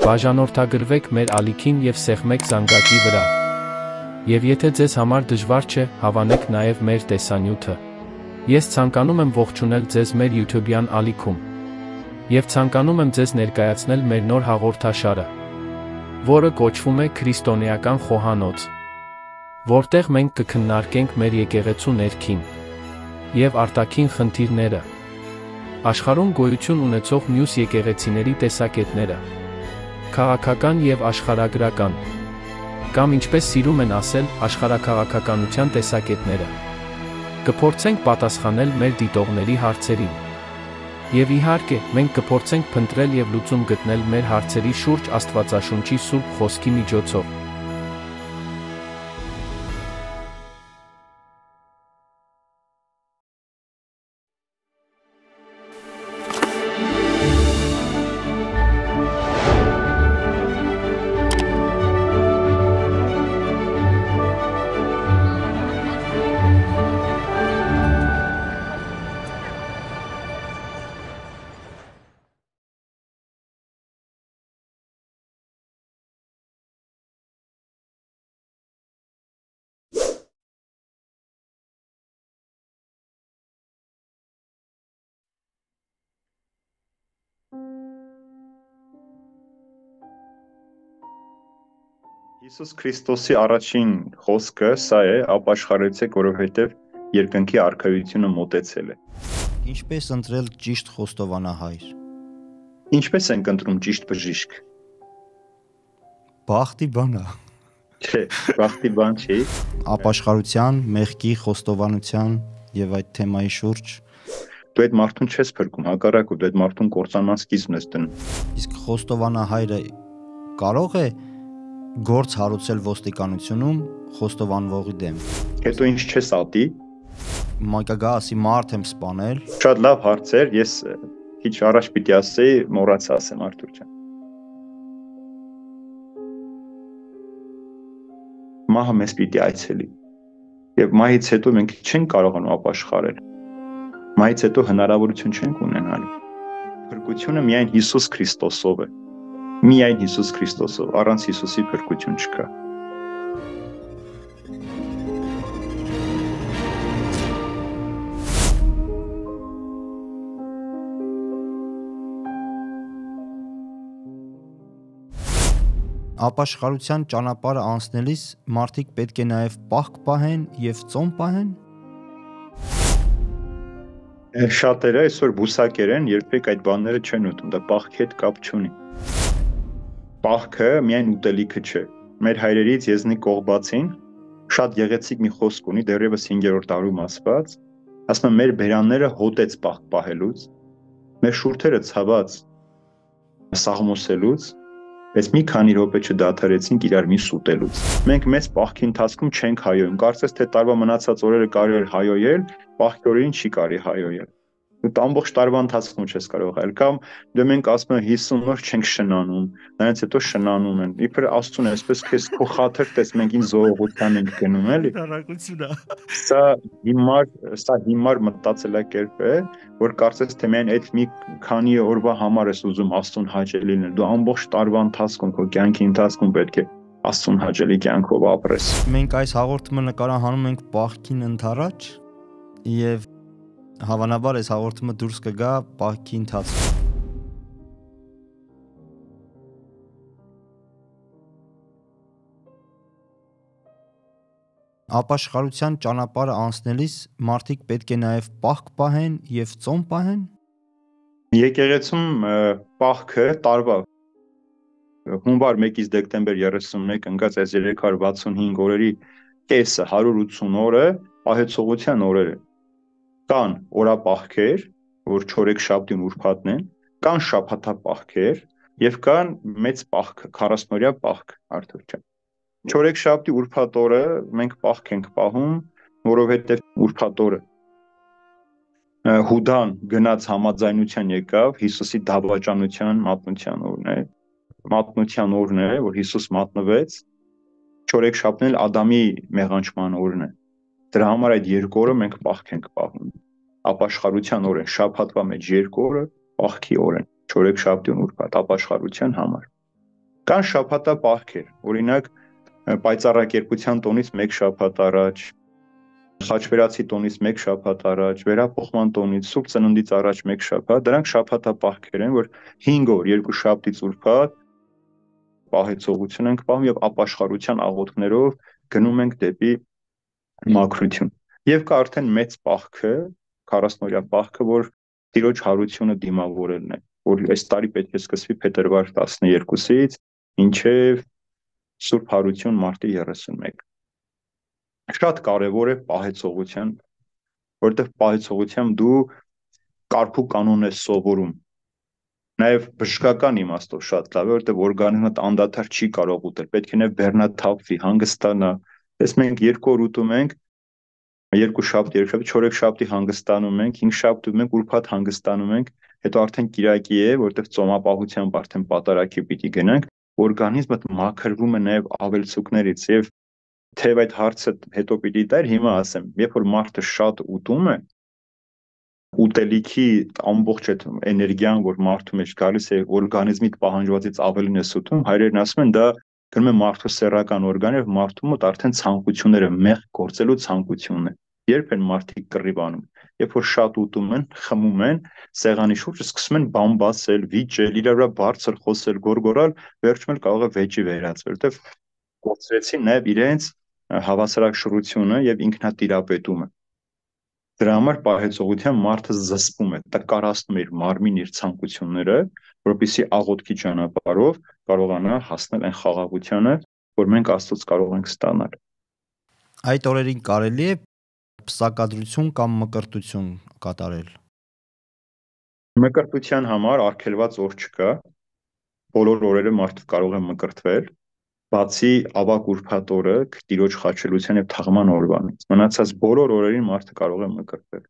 Բաժանորդագրվեք մեր ալիքին և սեղմեք զանգակի վրա։ Եվ եթե ձեզ համար դժվար չէ, հավանեք նաև մեր տեսանյութը։ Ես ցանկանում եմ ողջունել ձեզ մեր YouTube-յան ալիքում։ Եվ ցանկանում եմ ձեզ ներկայացնել մեր նոր հաղորդաշարը, որը կոչվում է Քրիստոնեական խոհանոց, որտեղ մենք կքննարկենք մեր եկեղեցու ներքին և արտաքին խնդիրները, աշխարհում գոյություն ունեցող մյուս եկեղեցիների տեսակետները, քաղաքական և աշխարհագրական, կամ ինչպես սիրում են ասել, աշխարհաքաղաքականության տեսակետները։ Կփորձենք պատասխանել մեր դիտողների հարցերին։ Եվ իհարկե, մենք կփորձենք փնտրել և լուծում գտնել մեր հարցերի շուրջ Աստվածաշունչի Սուրբ Խոսքի միջոցով։ Հիսուս Քրիստոսի առաջին խոսքը սա է, ապաշխարեցեք, որովհետև երկնքի արքայությունը մոտեցել է։ Ինչպես ընտրել ճիշտ խոստովանահայր։ Ինչպես ենք ընտրում ճիշտ բժիշկ։ Բախտի բան է։ Չէ, բախտի բան չի։ Ապաշխարության, մեղքի, խոստովանության եւ այդ թեմայի շուրջ Դու այդ մարդուն չես փրկում, հակառակը դու այդ մարդուն կործանման սկիզբն ես դնում։ Իսկ խոստովանահայրը կարող է գործ հարուցել ոստիկանությունում խոստովանվողի դեմ։ Հետո ինչ չես ատի։ Մայկա գա ասի մարդ եմ սպանել։ Շատ լավ հարց էր, ես քիչ առաջ պիտի ասեի, մոռացա ասեմ Արթուր ջան։ Մահը մեզ պիտի այցելի։ Եվ մահից հետո մենք չենք կարողանում ապաշխարել։ Մահից հետո հնարավորություն չենք ունենալու։ Փրկությունը միայն Հիսուս Քրիստոսով է։ Միայն Հիսուս Քրիստոսով, առանց Հիսուսի փրկություն չկա։ Ապաշխարության ճանապարհը անցնելիս մարդիկ պետք է նաև պահք պահեն եւ ծոմ պահեն։ Շատերը այսօր բուսակեր են, երբեք այդ բաները չեն ուտում, դա պահքի հետ կապ չունի։ Պահքը միայն ուտելիքը չէ։ Մեր հայրերից Եզնիկ Կողբացին շատ գեղեցիկ մի խոսք ունի, դեռևս 5-րդ դարում ասված, ասում է մեր բերանները հոտեց պահք պահելուց, մեր շուրթերը ցաված սաղմոսելուց, բայց մի քանի րոպե չդադարեցինք իրար միս ուտելուց։ Մենք մեծ պահքի ընթացքում չենք հայոյում, կարծես թե տարվա մնացած օրերը կարելի է հայոյել, պահքի օրերին չի կարելի հայոյել։ Դու ամբողջ տարվա ընթացքում չես կարող այլ կամ դու մենք ասում ենք 50 օր չենք շնանում, նրանց հետո շնանում են։ Իբր Աստծուն այսպես քեզ քո խաթր տես մենք ին զողողության ենք գնում, էլի։ Դարակությունա։ Սա հիմար մտածելակերպ է, որ կարծես թե միայն այդ մի քանի օրվա համար ես ուզում Աստծուն հաճելի լինել։ Դու ամբողջ տարվա ընթացքում քո կյանքի ընթացքում պետք է Աստծուն հաճելի կյանքով ապրես։ Մենք այս հաղորդումը նկարահանում ենք պահքին ընթരാճ եւ հավանաբար այս հաղորդումը դուրս կգա պահքի ընթացքում։ Ապաշխարության ճանապարհը անցնելիս մարդիկ պետք է նաև պահք պահեն եւ ծոմ պահեն։ Եկեղեցում պահքը տարվա հունվար 1-ից դեկտեմբեր 31 ընկած այս 365 օրերի կեսը 180 օրը պահեցողության օրեր են։ Կան օրապահքեր, որ չորեքշաբթին ուրբաթն են, կան շաբաթապահքեր եւ կան մեծ պահքը, 40-օրյա պահք, Արթուր ջան։ Չորեքշաբթի ուրբաթ օրը մենք պահք ենք պահում, որովհետեւ ուրբաթ օրը Հուդան գնաց համաձայնության եկավ Հիսուսի դավաճանության մատնության օրն է։ Մատնության օրն է, որ Հիսուս մատնվեց, չորեքշաբթին էլ Ադամի մեղանչման օրն է։ Դրա համար այդ երկու օրը մենք պահք ենք պահում։ ապաշխարության օր են, շաբաթվա մեջ 2 օրը պահքի օր են, չորեքշաբթի ու ուրբաթ ապաշխարության համար։ Կան շաբաթապահքեր, օրինակ պայծառակերպության տոնից 1 շաբաթ առաջ, խաչվերացի տոնից 1 շաբաթ առաջ, վերափոխման տոնից, Սուրբ Ծննդից առաջ 1 շաբաթ, դրանք շաբաթապահքեր են, որ 5 օր, 2 շաբթից ուրբաթ պահեցողություն ենք պահում եւ ապաշխարության աղոթքներով գնում ենք դեպի մաքրություն։ Եվ կա արդեն մեծ պահքը, 40-օրյա պահքը, որ Տիրոջ հարությունը դիմավորելն է, որ այս տարի պետք է սկսվի փետրվար 12-ից մինչև Սուրբ Հարություն մարտի 31։ Շատ կարևոր է պահեցողության, որովհետև պահեցողությամբ դու կարգու կանոն ես սովորում։ Նաև բժշկական իմաստով շատ լավ է, որովհետև օրգանիզմդ անդադար չի կարող ուտել, պետք է նաև բեռնաթափվի, հանգստանա։ Ես մենք 2 օր ուտում ենք, 2 շաբթի, 4 շաբթի հանգստանում ենք, 5 շաբթի ուտում ենք, ուրբաթ հանգստանում ենք, հետո արդեն կիրակի է, որովհետև ծոմապահությամբ արդեն պատարագի պիտի գնանք, օրգանիզմդ մաքրվում է նաև ավելցուկներից եւ թեև այդ հարցը հետո պիտի տար, հիմա ասեմ, երբ որ մարդը շատ ուտում է, ուտելիքի ամբողջ այդ էներգիան, որ մարդու մեջ գալիս է, օրգանիզմիդ պահանջվածից ավելին է ուտում, հայրերն ասում են, դա գնում է մարդու սեռական օրգան եւ մարդու մոտ արդեն ցանկությունները մեղք գործելու ցանկությունն է։ Երբ են մարդիկ կռիվ անում, երբ որ շատ ուտում են, խմում են, սեղանի շուրջը սկսում են բամբասել, վիճել, իրար վրա բարձր խոսել, գոռգոռալ, վերջում էլ կարող է վեճի վերածվել, որտեվ կորցրեցին նաև իրենց հավասարակշռությունը եւ ինքնատիրապետումը։ Դրա համար պահեցողության մարդը զսպում է, տկարացնում է իր մարմին, իր ցանկությունները, որպեսզի աղոթքի ճանապարհով կարողանա հասնել այն խաղաղությանը, որ մենք Աստծոց կարող ենք ստանալ։ Այդ օրերին կարելի է պսակադրություն կամ մկրտություն կատարել։ Մկրտության համար արգելված օր չկա։ Բոլոր օրերը մարդը կարող է մկրտվել, բացի ավագ ուրբաթ օրը, Տիրոջ խաչելության եւ թաղման օրվանից։ Մնացած բոլոր օրերին մարդը կարող է մկրտվել։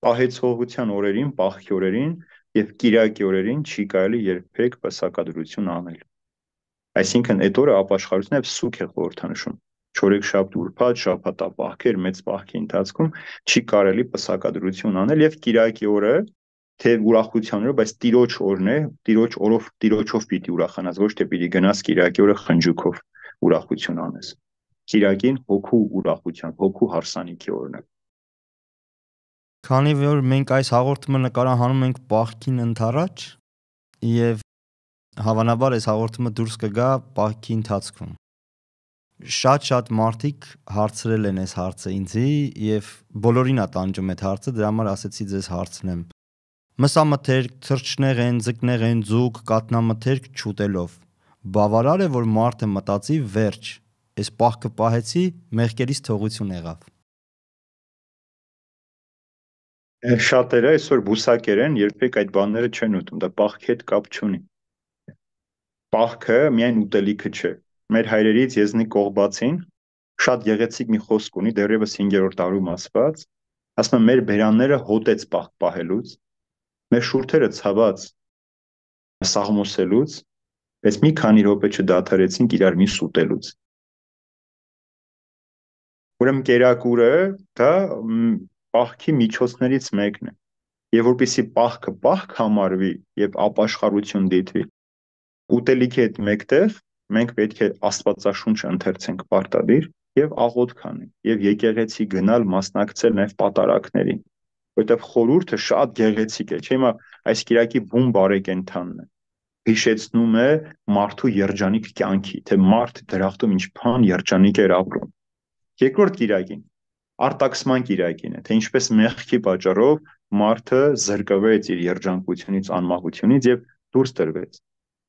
Պահեցողության օրերին, պահքի օրերին եւ կիրակի օրերին չի կարելի երբեք պսակադրություն անել։ Այսինքն այդ օրը ապաշխարությունը եւ սուգ է խորհրդանշում։ Չորեքշաբթ, ուրբաթ, շաբաթապահքեր, մեծ պահքի ընթացքում չի կարելի պսակադրություն անել եւ կիրակի օրը թե ուրախությանով, բայց Տիրոջ օրն է, Տիրոջ օրով, Տիրոջով պիտի ուրախանաս, ոչ թե պիտի գնաս կիրակի օրը խնջուքով ուրախություն անես։ Կիրակին հոգու ուրախության, հոգու հարսանիքի օրն է։ Քանի որ մենք այս հաղորդումը նկարահանում ենք պահքին ընթառաջ եւ հավանաբար այս հաղորդումը դուրս կգա պահքի ընթացքում։ Շատ մարդիկ հարցրել են այս հարցը ինձի եւ բոլորին է տանջում այդ հարցը, դրա համար ասեցի ձեզ հարցնեմ։ Մսամթերք, թրջնեղեն, ձկնեղեն, ձուկ, կատնամթերք չուտելով։ Բավարար է, որ մարդը մտածի վերջ, այս պահքը պահեցի, մեղքերից թողություն եղավ։ Շատերը այսօր բուսակեր են, երբեք այդ բաները չեն ուտում, դա պահքի հետ կապ չունի։ Պահքը միայն ուտելիքը չէ։ Մեր հայրերից Եզնիկ Կողբացին շատ գեղեցիկ մի խոսք ունի, դեռևս 5-րդ դարում ասված, ասում է մեր բերանները հոտեց պահք պահելուց, մեր շուրթերը ցաված սաղմոսելուց, բայց մի քանի րոպե չդադարեցինք իրար միս ուտելուց։ Ուրեմն կերակուրը դա պահքի միջոցներից մեկն է։ Եվ որպեսզի պահքը պահք համարվի եւ ապաշխարություն դիտվի, ուտելիքի հետ մեկտեղ մենք պետք է Աստվածաշունչ ընթերցենք պարտադիր եւ աղոթք անենք եւ եկեղեցի գնալ մասնակցել նաեւ պատարակներին, որովհետեւ խորհուրդը շատ գեղեցիկ է, չէ՞ հիմա այս կիրակի բուն բարեկենդանն է, հիշեցնում է մարդու երջանիկ կյանքի, թե մարդ դրախտում ինչքան երջանիկ էր ապրում։ Երկրորդ կիրակին արտաքսման կիրակին է, թե ինչպես մեղքի պատճառով մարդը զրկվեց իր երջանկությունից, անմահությունից եւ դուրս տրվեց։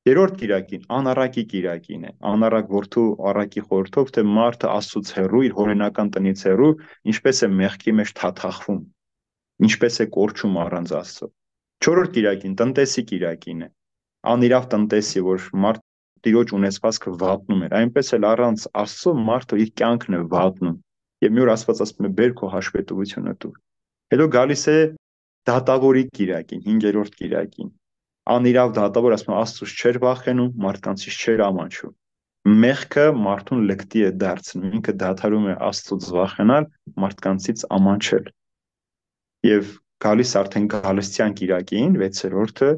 Երրորդ կիրակին անառակի կիրակին է, անառակ որդու առակի խորհրդով, թե մարդը Աստծուց հեռու, իր հորենական տնից հեռու, ինչպես է մեղքի մեջ թաթախվում, ինչպես է կորչում առանց Աստծո։ Չորրորդ կիրակին տնտեսի կիրակին է, անիրավ տնտեսի, որ մարդ Տիրոջ ունեցվածքը վատնում էր, այնպես էլ առանց Աստծո մարդը իր կյանքն է վատնում։ Եվ մի օր Աստված ասում է բեր քո հաշվետվությունը տուր։ Հետո գալիս է դատավորի կիրակին, 5-րդ կիրակին։ Անիրավ դատավոր ասում է Աստծուց չէր վախենում, մարդկանցից չէր ամաչում։ Մեղքը մարդուն լկտի է դարձնում, ինքը դադարում է Աստծուց վախենալ, մարդկանցից ամաչել։ եւ գալիս արդեն գալստյան կիրակին 6-րդը,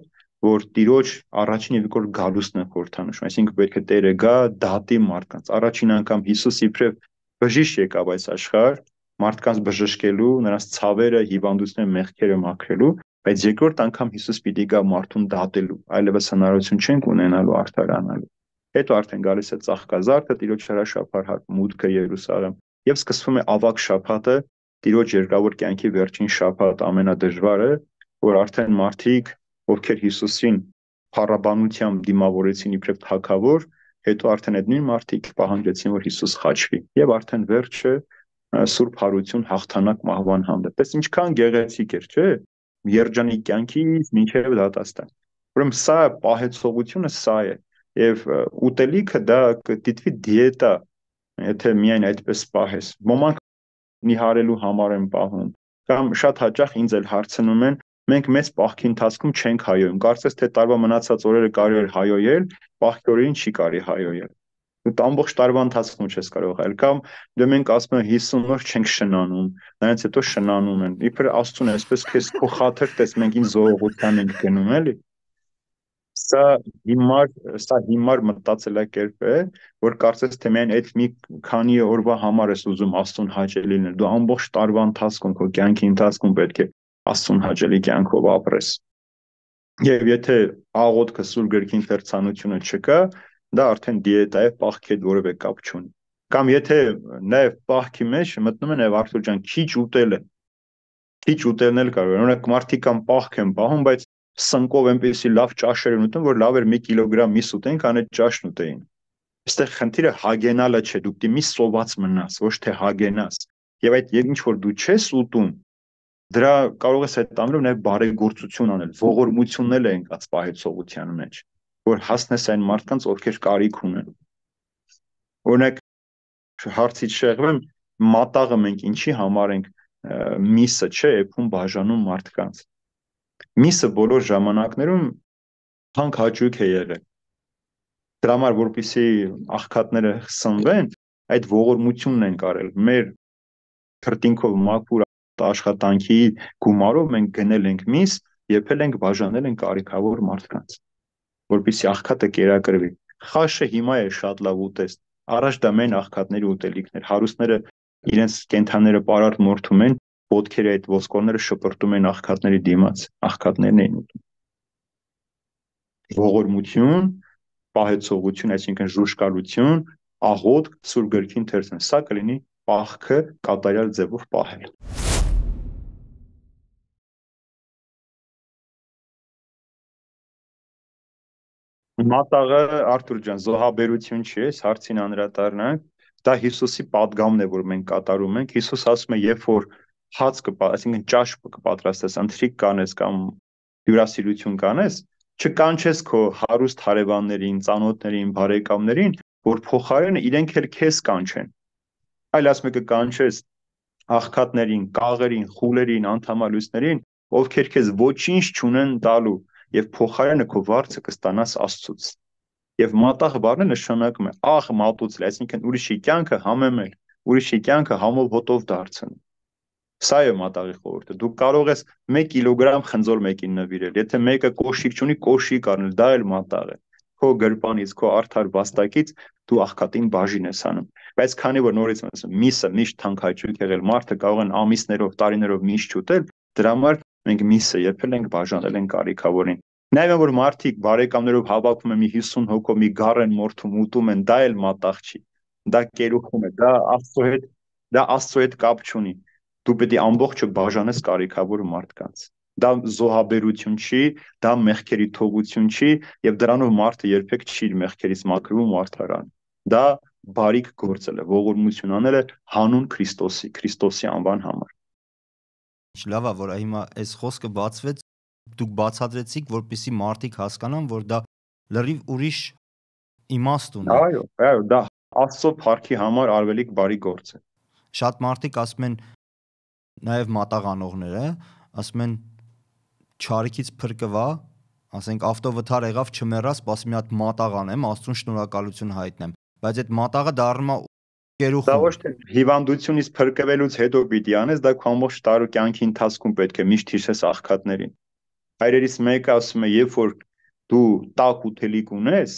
որ Տիրոջ առաջին եւ երկրորդ գալուստն է խորհրդանշում, այսինքն պետք է Տերը գա դատի մարդկանց։ Առաջին անգամ Հիսուս իբրև բժիշկ եկավ այս աշխարհ, մարդկանց բժշկելու, նրանց ցավերը, հիվանդությունները, մեղքերը մաքրելու, բայց երկրորդ անգամ Հիսուս պիտի գա մարդուն դատելու, այլևս հնարավորություն չենք ունենալու արդարանալու։ Հետո արդեն գալիս է ծաղկազարդը, Տիրոջ հրաշափառ մուտքը Երուսաղեմ, եւ սկսվում է ավագ շաբաթը, Տիրոջ երկրավոր կյանքի վերջին շաբաթ, ամենադժվարը, որ արդեն մարդիկ, ովքեր Հիսուսին փառաբանությամբ դիմավորեցին իբրև թագավոր, հետո արդեն այդ նույն մարդիկ պահանջեցին, որ Հիսուս խաչվի, եւ արդեն վերջը սուրբ հարություն հաղթանակ մահվան հանդեպ։ Այս ինչքան գեղեցիկ էր, չէ՞։ Երջանիկ կյանքից մինչև դատաստան։ Ուրեմն սա պահեցողությունը սա է, եւ ուտելիքը դա կդիտվի դիետա, եթե միայն այդպես պահես։ Ոմանք նիհարելու համար են պահում, կամ շատ հաճախ ինձ էլ հարցնում են, մենք մեծ պահքի ընթացքում չենք հայոյում, կարծես թե տարվա մնացած օրերը կարելի է հայոյել, պահքի օրերին չի կարելի հայոյել։ Դու ամբողջ տարվա ընթացքում չես կարող այլ, կամ դե մենք ասում ենք 50 օր չենք շնանում, նրանց հետո շնանում են։ Իբր Աստծուն այսպես քեզ քո խաթր տես, մենք ին զողողության ենք գնում, էլի։ Սա հիմար մտածելակերպ է, որ կարծես թե միայն այդ մի քանի օրվա համար ես ուզում Աստծուն հաճելի լինել, դու ամբողջ տարվա ընթացքում քո կյանքի ընթացքում պետք է Աստծուն հաճելի կյանքով ապրես։ Եվ եթե աղոթքը սուրբ գրքի ընթերցանությունը չկա, դա արդեն դիետա է, պահքի հետ որևէ կապ չունի։ Կամ եթե նաև պահքի մեջ մտնում են եւ Արթուր ջան, քիչ ուտելը, քիչ ուտելն էլ կարող է։ Օրինակ մարդիկ կամ պահք են պահում, բայց սնկով այնպեսի լավ ճաշեր են ուտում, որ լավ էր 1 կիլոգրամ միս ուտեին, քան այդ ճաշն ուտեին։ Այստեղ խնդիրը հագենալը չէ, դու պիտի մի սոված մնաս, ոչ թե հագենաս։ Եվ այդ ինչ որ դու չես ուտում, դրա կարող ես այդ տանելով նաև բարեգործություն անել, ողորմություններ են կաց պահեցողության մեջ, որ հասնես այն մարդկանց, ովքեր կարիք ունեն։ Օրինակ հարցից շեղվեմ, մատաղը մենք ինչի համար ենք միսը, չէ, էփում բաժանում մարդկանց։ Միսը բոլոր ժամանակներում հանք հաճույք է եղել։ Դրա համար որպեսզի աղքատները սնվեն, այդ ողորմությունն են կարել։ Մեր քրտինքով մաքուր աշխատանքի գումարով մենք գնել ենք միս, եփել ենք, բաժանել ենք կարիքավոր մարդկանց, որպեսզի աղքատը կերակրվի։ Խաշը հիմա է շատ լավ ուտեստ։ Առաջ դա մեն աղքատների ուտելիքներ, հարուստները իրենց կենթանները պարարտ մորթում են, ոտքերը այդ ոսկորները շպրտում են աղքատների դիմաց, աղքատներն էին ուտում։ Ողորմություն, պահեցողություն, այսինքն ժուշկալություն, աղոթք, սուրբ գրքի ընթերցում, սա կլինի պահքը կատարյալ ձևով պահել։ Մատաղը Արթուր ջան, զոհաբերություն չի, այս հարցին անդրադառնանք, դա Հիսուսի պատգամն է, որ մենք կատարում ենք։ Հիսուս ասում է, երբ որ հաց այսինքն ճաշ կպատրաստես, ընթրիք կանես կամ հյուրասիրություն կանես, չկանչես քո հարուստ հարևաններին, ծանոթներին, բարեկամներին, որ փոխարենը իրենք էլ քեզ կանչեն։ Այլ ասում է կկանչես աղքատներին, կաղերին, խուլերին, անդամալույսներին, ովքեր քեզ ոչինչ չունեն տալու, եւ փոխարենը քո վարձը կստանաս Աստծուց։ Եվ մատաղ բառը նշանակում է աղ մատուցել, այսինքն ուրիշի կյանքը համեմել, ուրիշի կյանքը համով հոտով դարձնել։ Սա է մատաղի խորհուրդը։ Դու կարող ես 1 կիլոգրամ խնձոր մեկին նվիրել, եթե մեկը կոշիկ չունի, կոշիկ առնել, դա էլ մատաղ է։ Քո գրպանից, քո արդար վաստակից դու աղքատին բաժին ես անում։ Բայց քանի որ նորից ասում, միսը միշտ թանկարժեք եղել, մարդը կարող են ամիսներով, տարիներով միշտ չուտել, դրա համար մենք միսը եփել ենք, բաժանել ենք կարիքավորին։ Նաև որ մարդիկ բարեկամներով հավաքում են մի 50 հոգով մի գառեն մորթում ուտում են, դա էլ մատաղ չի։ Դա կերուխում է, դա Աստծո հետ կապ չունի։ Դու պետք է ամբողջը բաժանես կարիքավոր մարդկանց։ Դա զոհաբերություն չի, դա մեղքերի թողություն չի, եւ դրանով մարդը երբեք չի իր մեղքերից մաքրվում ու արդարանում։ Դա բարիք գործել է, ողորմություն անել է հանուն Քրիստոսի անվան համար։ Լավ է, որ հիմա այս խոսքը բացվեց, դուք բացատրեցիք, որպեսզի մարդիկ հասկանան, որ դա լրիվ ուրիշ իմաստ ունի։ Այո, դա Աստծո փառքի համար արվելիք բարի գործ է։ Շատ մարդիկ ասում են, նաև մատաղանողները, ասում են չարիքից փրկվա, ասենք ավտովթար եղավ, չմեռա, սպասի մի հատ մատաղ անեմ, Աստծուն շնորհակալություն հայտնեմ, բայց այդ մատաղը դառնում է Դա ոչ թե հիվանդությունից փրկվելուց հետո պիտի անես, դա քո ամբողջ տարու կյանքի ընթացքում պետք է միշտ հիշես աղքատներին։ Հայրերից մեկը ասում է, երբ որ դու տաք ուտելիք ունես,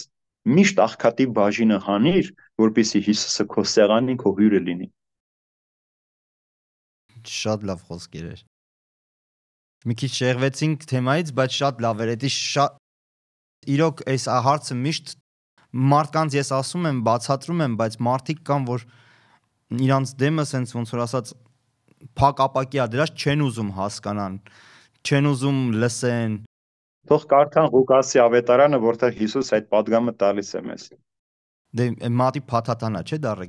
միշտ աղքատի բաժինը հանիր, որպեսզի Հիսուսը քո սեղանին քո հյուրը լինի։ Շատ լավ խոսքեր էր։ Մի քիչ շեղվեցինք թեմայից, բայց շատ լավ էր։ Դա շատ իրոք այս հարցը միշտ մարդկանց ես ասում եմ, բացատրում եմ, բայց մարդիկ կան, որ իրանց դեմը sense ոնց որ ասած փակ ապակիա դրած չեն ուզում հասկանան, չեն ուզում լսեն։ Թող կարդան Ղուկասի ավետարանը, որտեղ Հիսուս այդ պատգամը տալիս է մեզ։ Դե մատի փաթաթանա, չէ՞ դառը։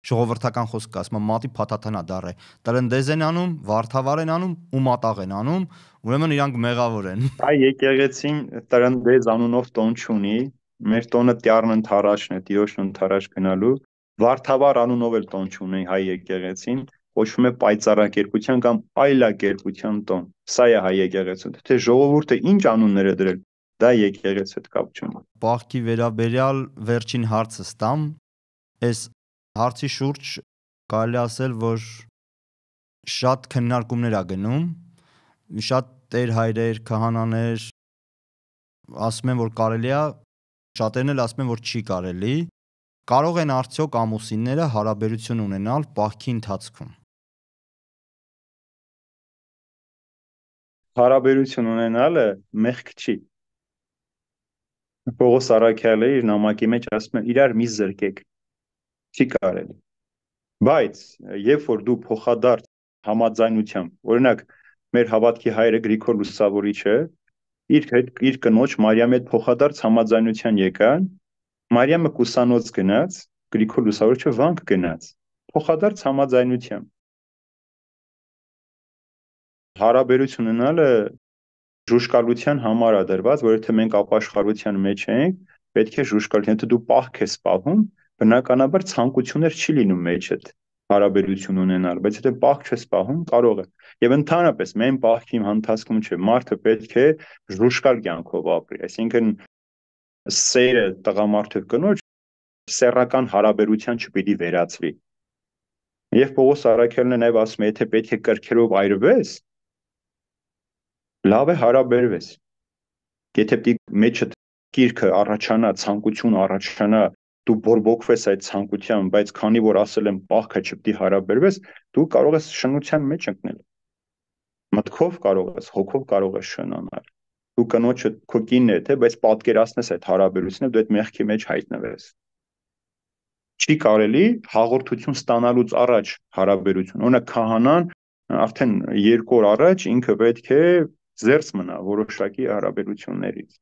Ժողովրդական խոսք ասում, մատի փաթաթանա դառը։ Տրնդեզ են անում, վարդավար են անում ու մատաղ են անում, ուրեմն իրանք մեղավոր են։ Այ եկեղեցին տրնդեզ անունով տոն չունի, մեր տոնը Տյառն ընթարաշն է, Տիրոջն ընթարաշ գնալու։ Վարդավար անունով էլ տոն չունի հայ եկեղեցին, կոչվում է պայծառակերպության կամ այլակերպության տոն։ Սա է հայ եկեղեցու։ Թե ժողովուրդը ինչ անուններ է դրել, դա եկեղեցու հետ կապ չունի։ Պահքի վերաբերյալ վերջին հարցը ստամ, այս հարցի շուրջ կարելի ասել, որ շատ քննարկումներ ա գնում, շատ տեր հայրեր, քահանաներ ասում են, որ կարելի է, շատերն էլ ասում են, որ չի կարելի։ Կարող են արդյոք ամուսինները հարաբերություն ունենալ պահքի ընթացքում։ Հարաբերություն ունենալը մեղք չի։ Պողոս առաքյալը իր նամակի մեջ ասում է իրար մի զրկեք։ Չի կարելի։ Բայց երբ որ դու փոխադարձ համաձայնությամբ, օրինակ մեր հավատքի հայրը Գրիգոր Լուսավորիչը իր կնոջ Մարիամի հետ փոխադարձ համաձայնության եկան, Մարիամը կուսանոց գնաց, Գրիգոր Լուսավորիչը վանք գնաց, փոխադարձ համաձայնությամբ։ Հարաբերություն ունենալը ժուշկալության համար է դրված, որ եթե մենք ապաշխարության մեջ ենք, պետք է ժուշկալություն, եթե դու պահք ես պահում, բնականաբար ցանկություններ չի լինում մեջդ հարաբերություն ունենալ, բայց եթե պահք չես պահում, կարող է։ Եվ ընդհանրապես մեն պահքի ընթացքում չէ, մարդը պետք է ժուշկալ կյանքով ապրի, այսինքն սերը տղամարդու կնոջ սեռական հարաբերության չպիտի վերածվի։ Եվ Պողոս առաքյալն է նաև ասում է, եթե պետք է կրքերով այրվես, լավ է հարաբերվես։ Եթե պետք մեջդ կիրքը առաջանա, ցանկություն առաջանա, դու բորբոքվես այդ ցանկությամբ, բայց քանի որ ասել եմ պահքը չպետք է հարաբերվես, դու կարող ես շնության մեջ ընկնել։ Մտքով կարող ես, հոգով կարող ես շնանալ։ Դու կնոջը քո կինն է, թե, բայց պատկերացնես այդ հարաբերությունը, դու այդ մեղքի մեջ հայտնվես։ Չի կարելի հաղորդություն ստանալուց առաջ հարաբերություն։ Օրինակ քահանան արդեն 2 օր առաջ ինքը պետք է զերծ մնա որոշակի հարաբերություններից։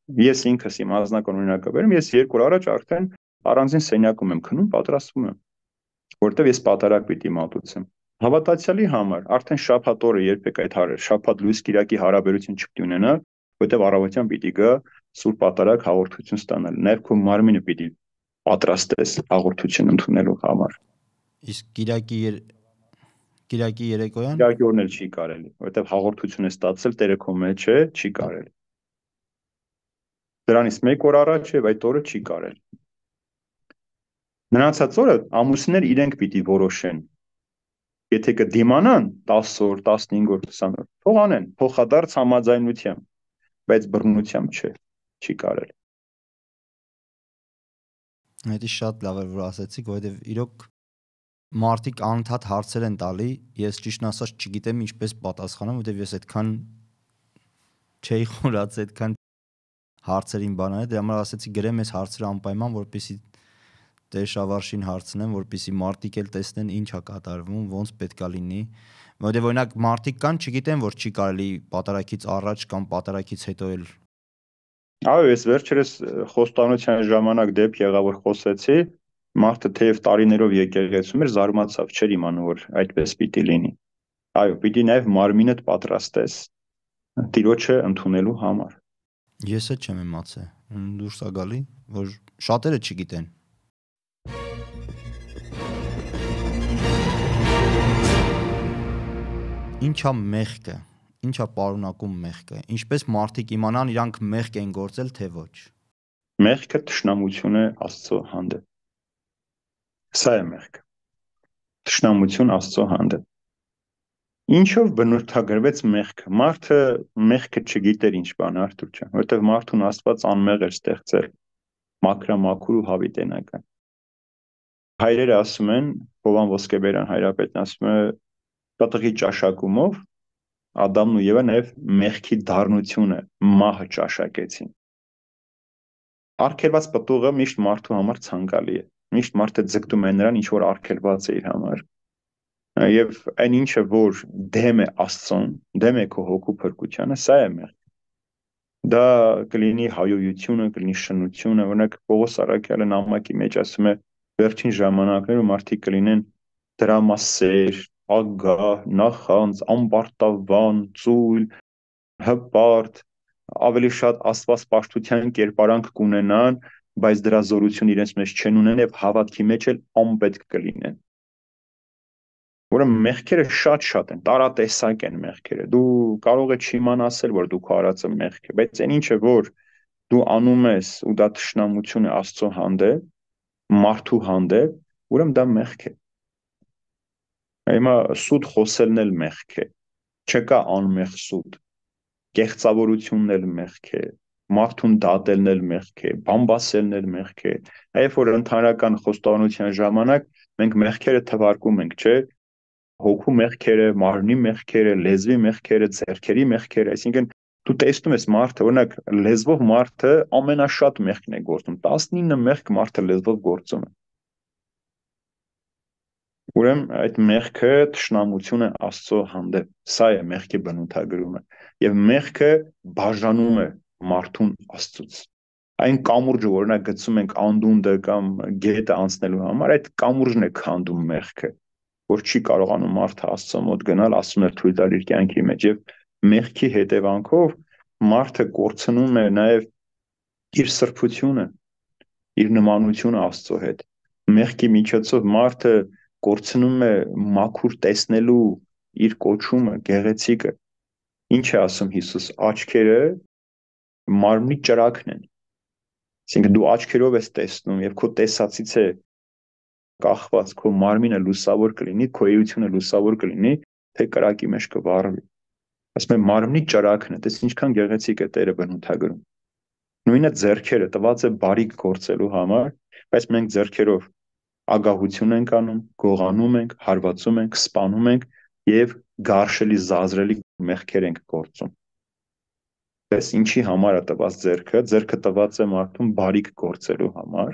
Ես ինքս իմ անձնական օրինակը բերեմ, ես 2 օր առաջ արդեն առանձին սենյակում եմ քնում, պատրաստվում եմ, որտեվ ես պատարագ պիտի մատուցեմ։ Հավատացյալի համար արդեն շաբաթ օրը երբեք այդ շաբաթ լույս կիրակի հարաբերություն չպիտի ունենա, որտեվ առավոտյան պիտի գա սուրբ պատարագ հաղորդություն ստանալ։ Նաև քո մարմինը պիտի պատրաստես հաղորդություն ընդունելու համար։ Իսկ Կիրակի երեկոյան Կիրակի օրն էլ չի կարելի, որտեվ հաղորդություն է ստացել Տերը քո մեջ է, չի կարելի։ Դրանից 1 օր առաջ եւ այդ օրը չի կարելի։ Մնացած օրը ամուսիններ իրենք պիտի որոշեն։ Եթե կդիմանան 10 օր, 15 օր, 20 օր, թող անեն, փոխադարձ համաձայնությամբ, բայց բռնությամբ չէ, չի կարելի։ Դա շատ լավ է որ ասացիք, որովհետեւ իրոք մարդիկ անընդհատ հարցեր են տալի, ես ճիշտն ասած չգիտեմ ինչպես պատասխանեմ, որովհետեւ ես այդքան չէի խորացել, այդքան հարցերին բաներ, դրա համար ասացի գրեմ այս հարցերը անպայման, որպեսզի Տեր Շավարշին հարցնեմ, որպեսզի մարդիկ էլ տեսնեն ինչ է կատարվում, ոնց պետքա լինի, որովհետեւ օրինակ մարդիկ կան, չգիտեն որ չի կարելի պատարագից առաջ կամ պատարագից հետո էլ։ Այո, ես վերջերս խոստանության ժամանակ դեպք եղա, որ խոսեցի, մարդը թեև տարիներով եկեղեցում էր, զարմացավ, չէր իմանում, որ այդպես պիտի լինի։ Այո, պիտի նաև մարմինդ պատրաստես Տիրոջը ընդունելու համար։ Ես էլ չեմ իմացել, դուրս է գալի, որ շատերը չգիտեն։ Ինչա մեղքը, ինչա պարունակում մեղքը, ինչպես մարդիկ իմանան իրանք մեղք են գործել, թե ոչ։ Մեղքը թշնամություն է Աստծո հանդեպ։ Սա է մեղքը։ Թշնամություն Աստծո հանդեպ։ Ինչով բնութագրվեց մեղքը։ Մարդը մեղքը չգիտեր ինչ բան, Արթուր ջան, որովհետև մարդուն Աստված անմեղ էր ստեղծել, մաքրամաքուր ու հավիտենական։ Հայրերը ասում են, Հովան Ոսկեբերյան հայրապետն ասում է, կատաղի ճաշակումով Ադամն ու Եվան նաև մեղքի դառնությունը, մահը ճաշակեցին։ Արգելված պտուղը միշտ մարդու համար ցանկալի է։ Միշտ մարդը ձգտում է նրան, ինչ որ արգելված է իր համար։ Եվ այն ինչը, որ դեմ է Աստծուն, դեմ է քո հոգու փրկությանը, սա է մեղքը։ Դա կլինի հայոյությունը, կլինի շնությունը, օրինակ Պողոս առաքյալը նամակի մեջ ասում է, վերջին ժամանակներում մարդիկ կլինեն դրամասեր, ագահ, նախանձ, ամբարտավան, ծույլ, հպարտ, ավելի շատ աստվածպաշտության կերպարանք կունենան, բայց դրա զորություն իրենց մեջ չեն ունեն եւ հավատքի մեջ էլ անպետք կլինեն։ Ուրեմն մեղքերը շատ են, տարատեսակ են մեղքերը։ Դու կարող ես չիմանալ, որ դու քո արածը մեղք է, բայց այն ինչը որ դու անում ես ու դա թշնամություն է Աստծո հանդեպ, մարդու հանդեպ, ուրեմն դա մեղք է։ Հիմա սուտ խոսելն էլ մեղք է։ Չկա անմեղ սուտ։ Կեղծավորությունն էլ մեղք է, մարդուն դատելն էլ մեղք է, բամբասելն էլ մեղք է։ Երբ որ ընդհանրական խոստովանության ժամանակ մենք մեղքերը թվարկում ենք, չէ՞, հոգու մեղքերը, մարմնի մեղքերը, լեզվի մեղքերը, ձեռքերի մեղքերը, այսինքն դու տեսնում ես մարդը, օրինակ լեզվով մարդը ամենաշատ մեղքն է գործում, 19 մեղք մարդը լեզվով գործում է։ Ուրեմն այդ մեղքը թշնամություն է Աստծո հանդեպ, սա է մեղքի բնութագրումը, եւ մեղքը բաժանում է մարդուն Աստծուց։ Այն կամուրջը, որ օրինակ գցում ենք անդունդը կամ գետը անցնելու համար, այդ կամուրջն է քանդում մեղքը, որ չի կարողանում մարդը Աստծո մոտ գնալ, ասում է թույլ տալ իր կյանքի մեջ, եւ մեղքի հետևանքով մարդը կորցնում է նաեւ իր սրբությունը, իր նմանությունը Աստծո հետ։ Մեղքի միջոցով մարդը կորցնում է մաքուր տեսնելու իր կոչումը, գեղեցիկը։ Ինչ է ասում Հիսուս, աչքերը մարմնի ճրագն են։ Այսինքն դու աչքերով ես տեսնում եւ քո տեսածից է կախված, քո մարմինը լուսավոր կլինի, քո էությունը լուսավոր կլինի, թե կրակի մեջ կվառվի։ Ասում եմ մարմնի ճրագն է, տես ինչքան գեղեցիկ է Տերը բնութագրում։ Նույնը ձեռքերը տված է բարիք գործելու համար, բայց մենք ձեռքերով ագահություն ենք անում, գողանում ենք, հարվածում ենք, սպանում ենք եւ գարշելի զազրելի մեղքեր ենք գործում։ Պես ինչի համար է տված ձեռքը, ձեռքը տված է մարդուն բարիք գործելու համար,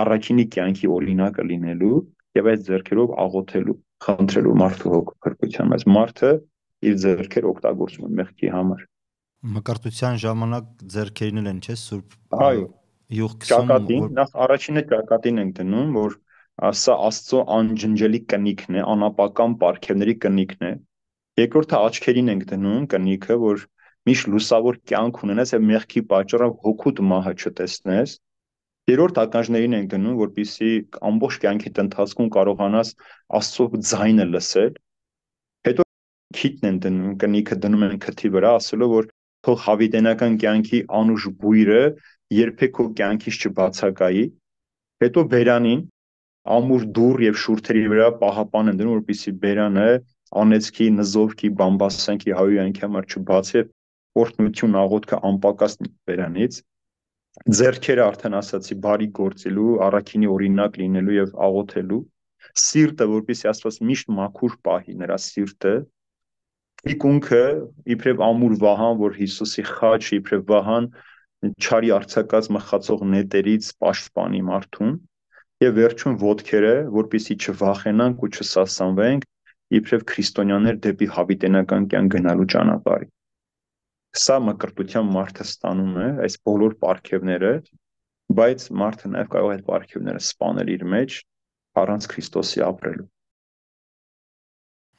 առաքինի կյանքի օրինակը լինելու եւ այդ ձեռքերով աղոթելու, խնդրելու մարդու հոգու փրկության, բայց մարդը իր ձեռքերը օգտագործում է մեղքի համար։ Մկրտության ժամանակ ձեռքերին են, չէ՞, սուրբ Այո, յուղ ճակատին, քսում, նախ առաջինը ճակատին ենք դնում, որ սա Աստծո անջնջելի կնիքն է, անապական պարգևների կնիքն է։ Երկրորդը աչքերին ենք դնում կնիքը, որ միշտ լուսավոր կյանք ունենաս եւ մեղքի պատճառով հոգուտ մահը չտեսնես։ Երրորդ ականջներին ենք դնում, որպեսզի ամբողջ կյանքիդ ընթացքում կարողանաս Աստծո ձայնը լսել։ Հետո քիթն են դնում, կնիքը դնում են քթի վրա, ասելով որ թող հավիտենական կյանքի անուշ բույրը երբեք քո կյանքից չբացակայի։ Հետո բերանին ամուր դուռ եւ շուրթերի վրա պահապան են դնում, որպեսզի բերանը անեծքի, նզովքի, բամբասանքի, հայոյանքի համար չբացի, օրհնություն աղոթքը անպակաս բերանից։ Ձեռքերը արդեն ասացի բարի գործելու, առաքինի օրինակ լինելու եւ աղոթելու։ Սիրտը, որպեսզի Աստված միշտ մաքուր պահի նրա սիրտը։ Թիկունքը իբրև ամուր վահան, որ Հիսուսի խաչ իբրև վահան չարի արձակած մխացող նետերից պաշտպանի մարդուն, եւ վերջում ոտքերը, որպեսզի չվախենանք ու չսասանվենք, իբրև քրիստոնյաներ դեպի հավիտենական կյանք գնալու ճանապարհի։ Սա մկրտության մարդը ստանում է, այս բոլոր պարգևները, բայց մարդը նաեւ կարող է այդ պարգևները սպանել իր մեջ առանց Քրիստոսի ապրելու։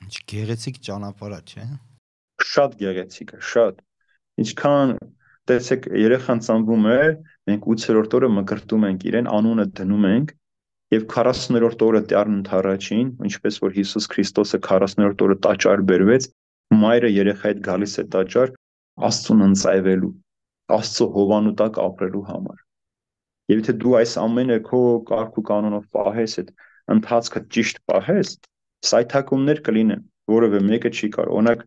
Ինչ գեղեցիկ ճանապարհ է, չէ՞։ Շատ գեղեցիկ է, շատ։ Ինչքան տեսեք, երեխան ծնվում է, մենք 8-րդ օրը մկրտում ենք իրեն, անունը դնում ենք, եւ 40-րդ օրը Տերն ընդառաջին, ինչպես որ Հիսուս Քրիստոսը 40-րդ օրը տաճար բերվեց, մայրը երեխայից գալիս է տաճար Աստծուն ընծայվելու, Աստծո հովանու տակ ապրելու համար։ Եվ եթե դու այս ամենը քո կարգ ու կանոնով պահես, այդ ընթացքը ճիշտ պահես, սայթակումներ կլինեն, որևէ մեկը չի կարող։ Օրինակ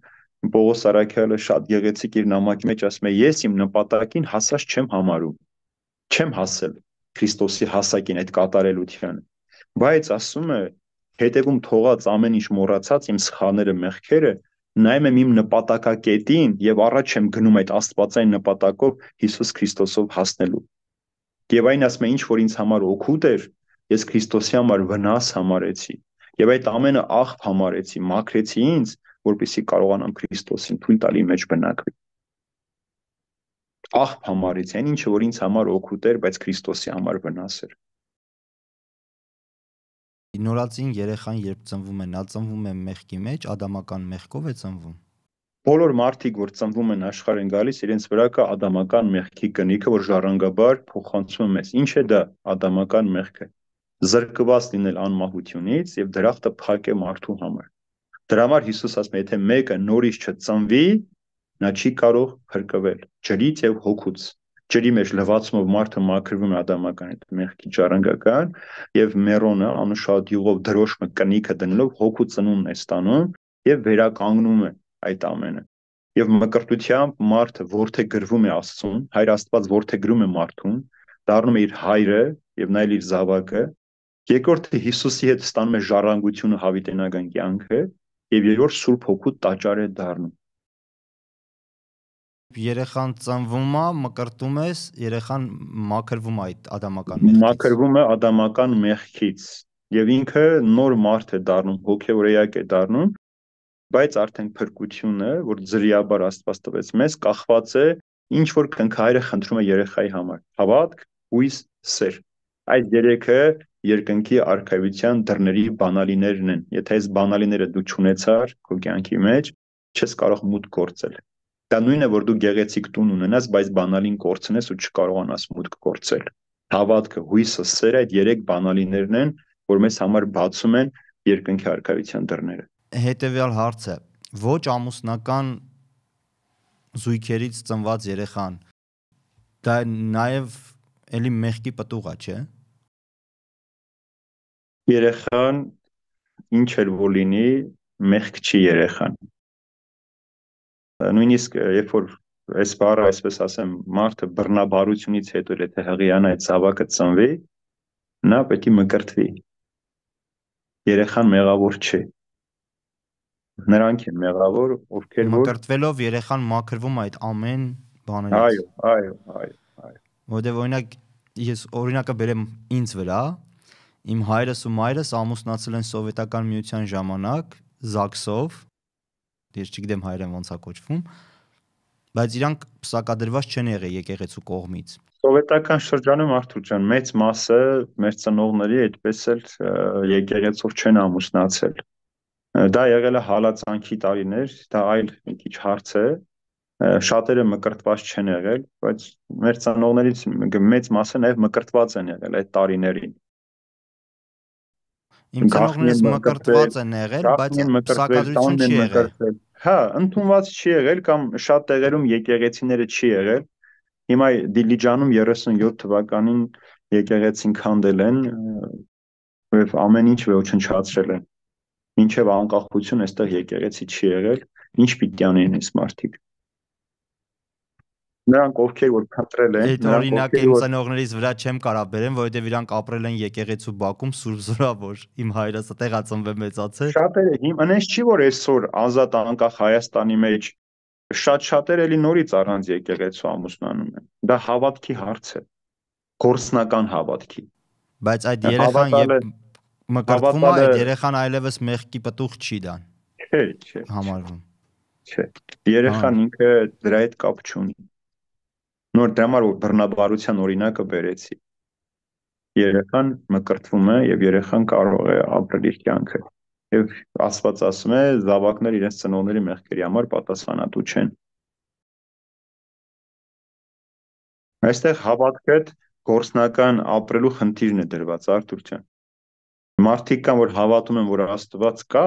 Պողոս Արաքյալը շատ գեղեցիկ իր նամակի մեջ ասում է. ես իմ նպատակին հասած չեմ համարում, չեմ հասել Քրիստոսի հասակին, այդ կատարելությանը, բայց ասում է հետևում թողած ամեն ինչ մոռացած իմ սխալները, մեղքերը, նայում եմ իմ նպատակակետին եւ առաջ եմ գնում այդ աստվածային նպատակով Հիսուս Քրիստոսով հասնելու։ Եվ այն ասում է, ինչ որ ինձ համար օգուտ էր, ես Քրիստոսի համար վնաս համարեցի եւ այդ ամենը աղբ համարեցի, մաքրեցի ինձ, որպեսզի կարողանամ Քրիստոսին թույլ տալի մեջ բնակվի։ Աղբ համարեցի այն ինչը, որ ինձ համար օգուտ էր, բայց Քրիստոսի համար վնաս էր։ Նորածին երեխան երբ ծնվում է, նա ծնվում է մեղքի մեջ, ադամական մեղքով է ծնվում։ Բոլոր մարդիկ, որ ծնվում են աշխարհ են գալիս, իրենց վրա կա ադամական մեղքի կնիքը, որ ժառանգաբար փոխանցում է մեզ։ Ինչ է դա ադամական մեղքը։ Զրկված լինել անմահությունից եւ դրախտը փակե մարդու համար։ Դրա համար Հիսուս ասում է, եթե մեկը նորից չծնվի, նա չի կարող փրկվել ջրից եւ հոգուց։ Ջրի մեջ լվացումով մարդը մաքրվում է ադամական այդ մեղքի ժառանգական եւ մերոնը անուշահոտ յուղով դրոշմը կնիքը դնելով հոգու ծնունդն է ստանում եւ վերականգնում է այդ ամենը։ Եվ մկրտությամբ մարդը որդեգրվում է Աստծուն, Հայր Աստված որդեգրում է մարդուն, դառնում է իր հայրը եւ նա իր զավակը։ Երկրորդը Հիսուսի հետ ստանում է ժառանգությունը, հավիտենական կյանքը, եւ երրորդ Սուրբ Հոգու տաճար է դառնում։ Երեխան ծնվում է, մկրտում ես, երեխան մաքրվում է այդ ադամական մեղքից։ Մաքրվում է ադամական մեղքից եւ ինքը նոր մարդ է դառնում, հոգեոր էակ է դառնում, բայց արդեն փրկությունը, որ ձրիաբար Աստված տվեց մեզ, կախված է ինչ որ կնքահայրը խնդրում է երեխայի համար։ Հավատք, հույս, սեր։ Այդ երեքը երկնքի արքայության դռների բանալիներն են։ Եթե այս բանալիները դու չունեցար քո կյանքի մեջ, չես կարող մուտք գործել։ Դա նույնն է, որ դու գեղեցիկ տուն ունենաս, բայց բանալին կորցնես ու չկարողանաս մուտք գործել։ Հավատքը, հույսը, սերը այդ երեք բանալիներն են, որ մեզ համար բացում են երկնքի արքայության դռները։ Հետևյալ հարցը. ոչ ամուսնական զույգերից ծնված երեխան դա նաև էլի մեղքի պտուղ է, չէ՞։ Երեխան ինչ էլ որ լինի, մեղք չի երեխան։ Նույնիսկ երբ որ այս բառը այսպես ասեմ, մարդը բռնաբարությունից հետո եթե հղիանա այդ զավակը ծնվի, նա պետք է մկրտվի։ Երեխան մեղավոր չէ։ Նրանք են մեղավոր, ովքեր որ մկրտվելով երեխան մաքրվում է այդ ամեն բաներից։ Այո։ Որտեղ օրինակ ես օրինակը բերեմ ինձ վրա, իմ հայրս ու մայրս ամուսնացել են սովետական միության ժամանակ ԶԱԳՍ-ով, ես չգիտեմ հայերեն ոնց է կոչվում, բայց իրանք պսակադրված չեն եղել եկեղեցու կողմից։ Սովետական շրջանում Արթուր ջան, մեծ մասը մեր ծնողների այդպես էլ եկեղեցով չեն ամուսնացել։ Դա եղել է հալածանքի տարիներ, դա այլ մի քիչ հարց է։ Շատերը մկրտված չեն եղել, բայց մեր ծնողներից մեծ մասը նաև մկրտված են եղել այդ տարիներին։ Իմ ծնողներս մկրտված են եղել, բայց պսակադրություն չի եղել։ Հա, ընդունված չի եղել կամ շատ տեղերում եկեղեցիները չի եղել։ Հիմա Դիլիջանում 37 թվականին եկեղեցին քանդել են, եւ ամեն ինչ ոչնչացրել են։ Մինչև անկախություն այստեղ եկեղեցի չի եղել, ինչ պիտի անեն այս մարդիկ։ Նրանք ովքեր որ փնտրել են, այդ օրինակը իմ ծնողներից վրա չեմ կարող բերեմ, որովհետեւ իրանք ապրել են եկեղեցու բակում Սուրբ Զորավոր։ Իմ հայրս այդտեղ է ծնվել մեծացել։ Շատերը այնպես չի որ այսօր ազատ անկախ Հայաստանի մեջ շատերը էլի նորից առանց եկեղեցու ամուսնանում են։ Դա հավատքի հարց է, գործնական հավատքի։ Բայց այդ երեխան երբ մկրտվում է, այդ երեխան այլևս մեղքի պտուղ չի դան։ Չէ։ Համարվում։ Չէ։ Երեխան ինքը դրա հետ կապ չունի։ Նոր դրա համար որ բռնաբարության օրինակը բերեցի։ Երեխան մկրտվում է եւ երեխան կարող է ապրել իր կյանքը։ Եվ Աստված ասում է, զավակներ իրենց ծնողների մեղքերի համար պատասխանատու չեն։ Այստեղ հավատքը գործնական ապրելու խնդիրն է դրված, Արթուր ջան։ Մարդիկ կան, որ հավատում են, որ Աստված կա,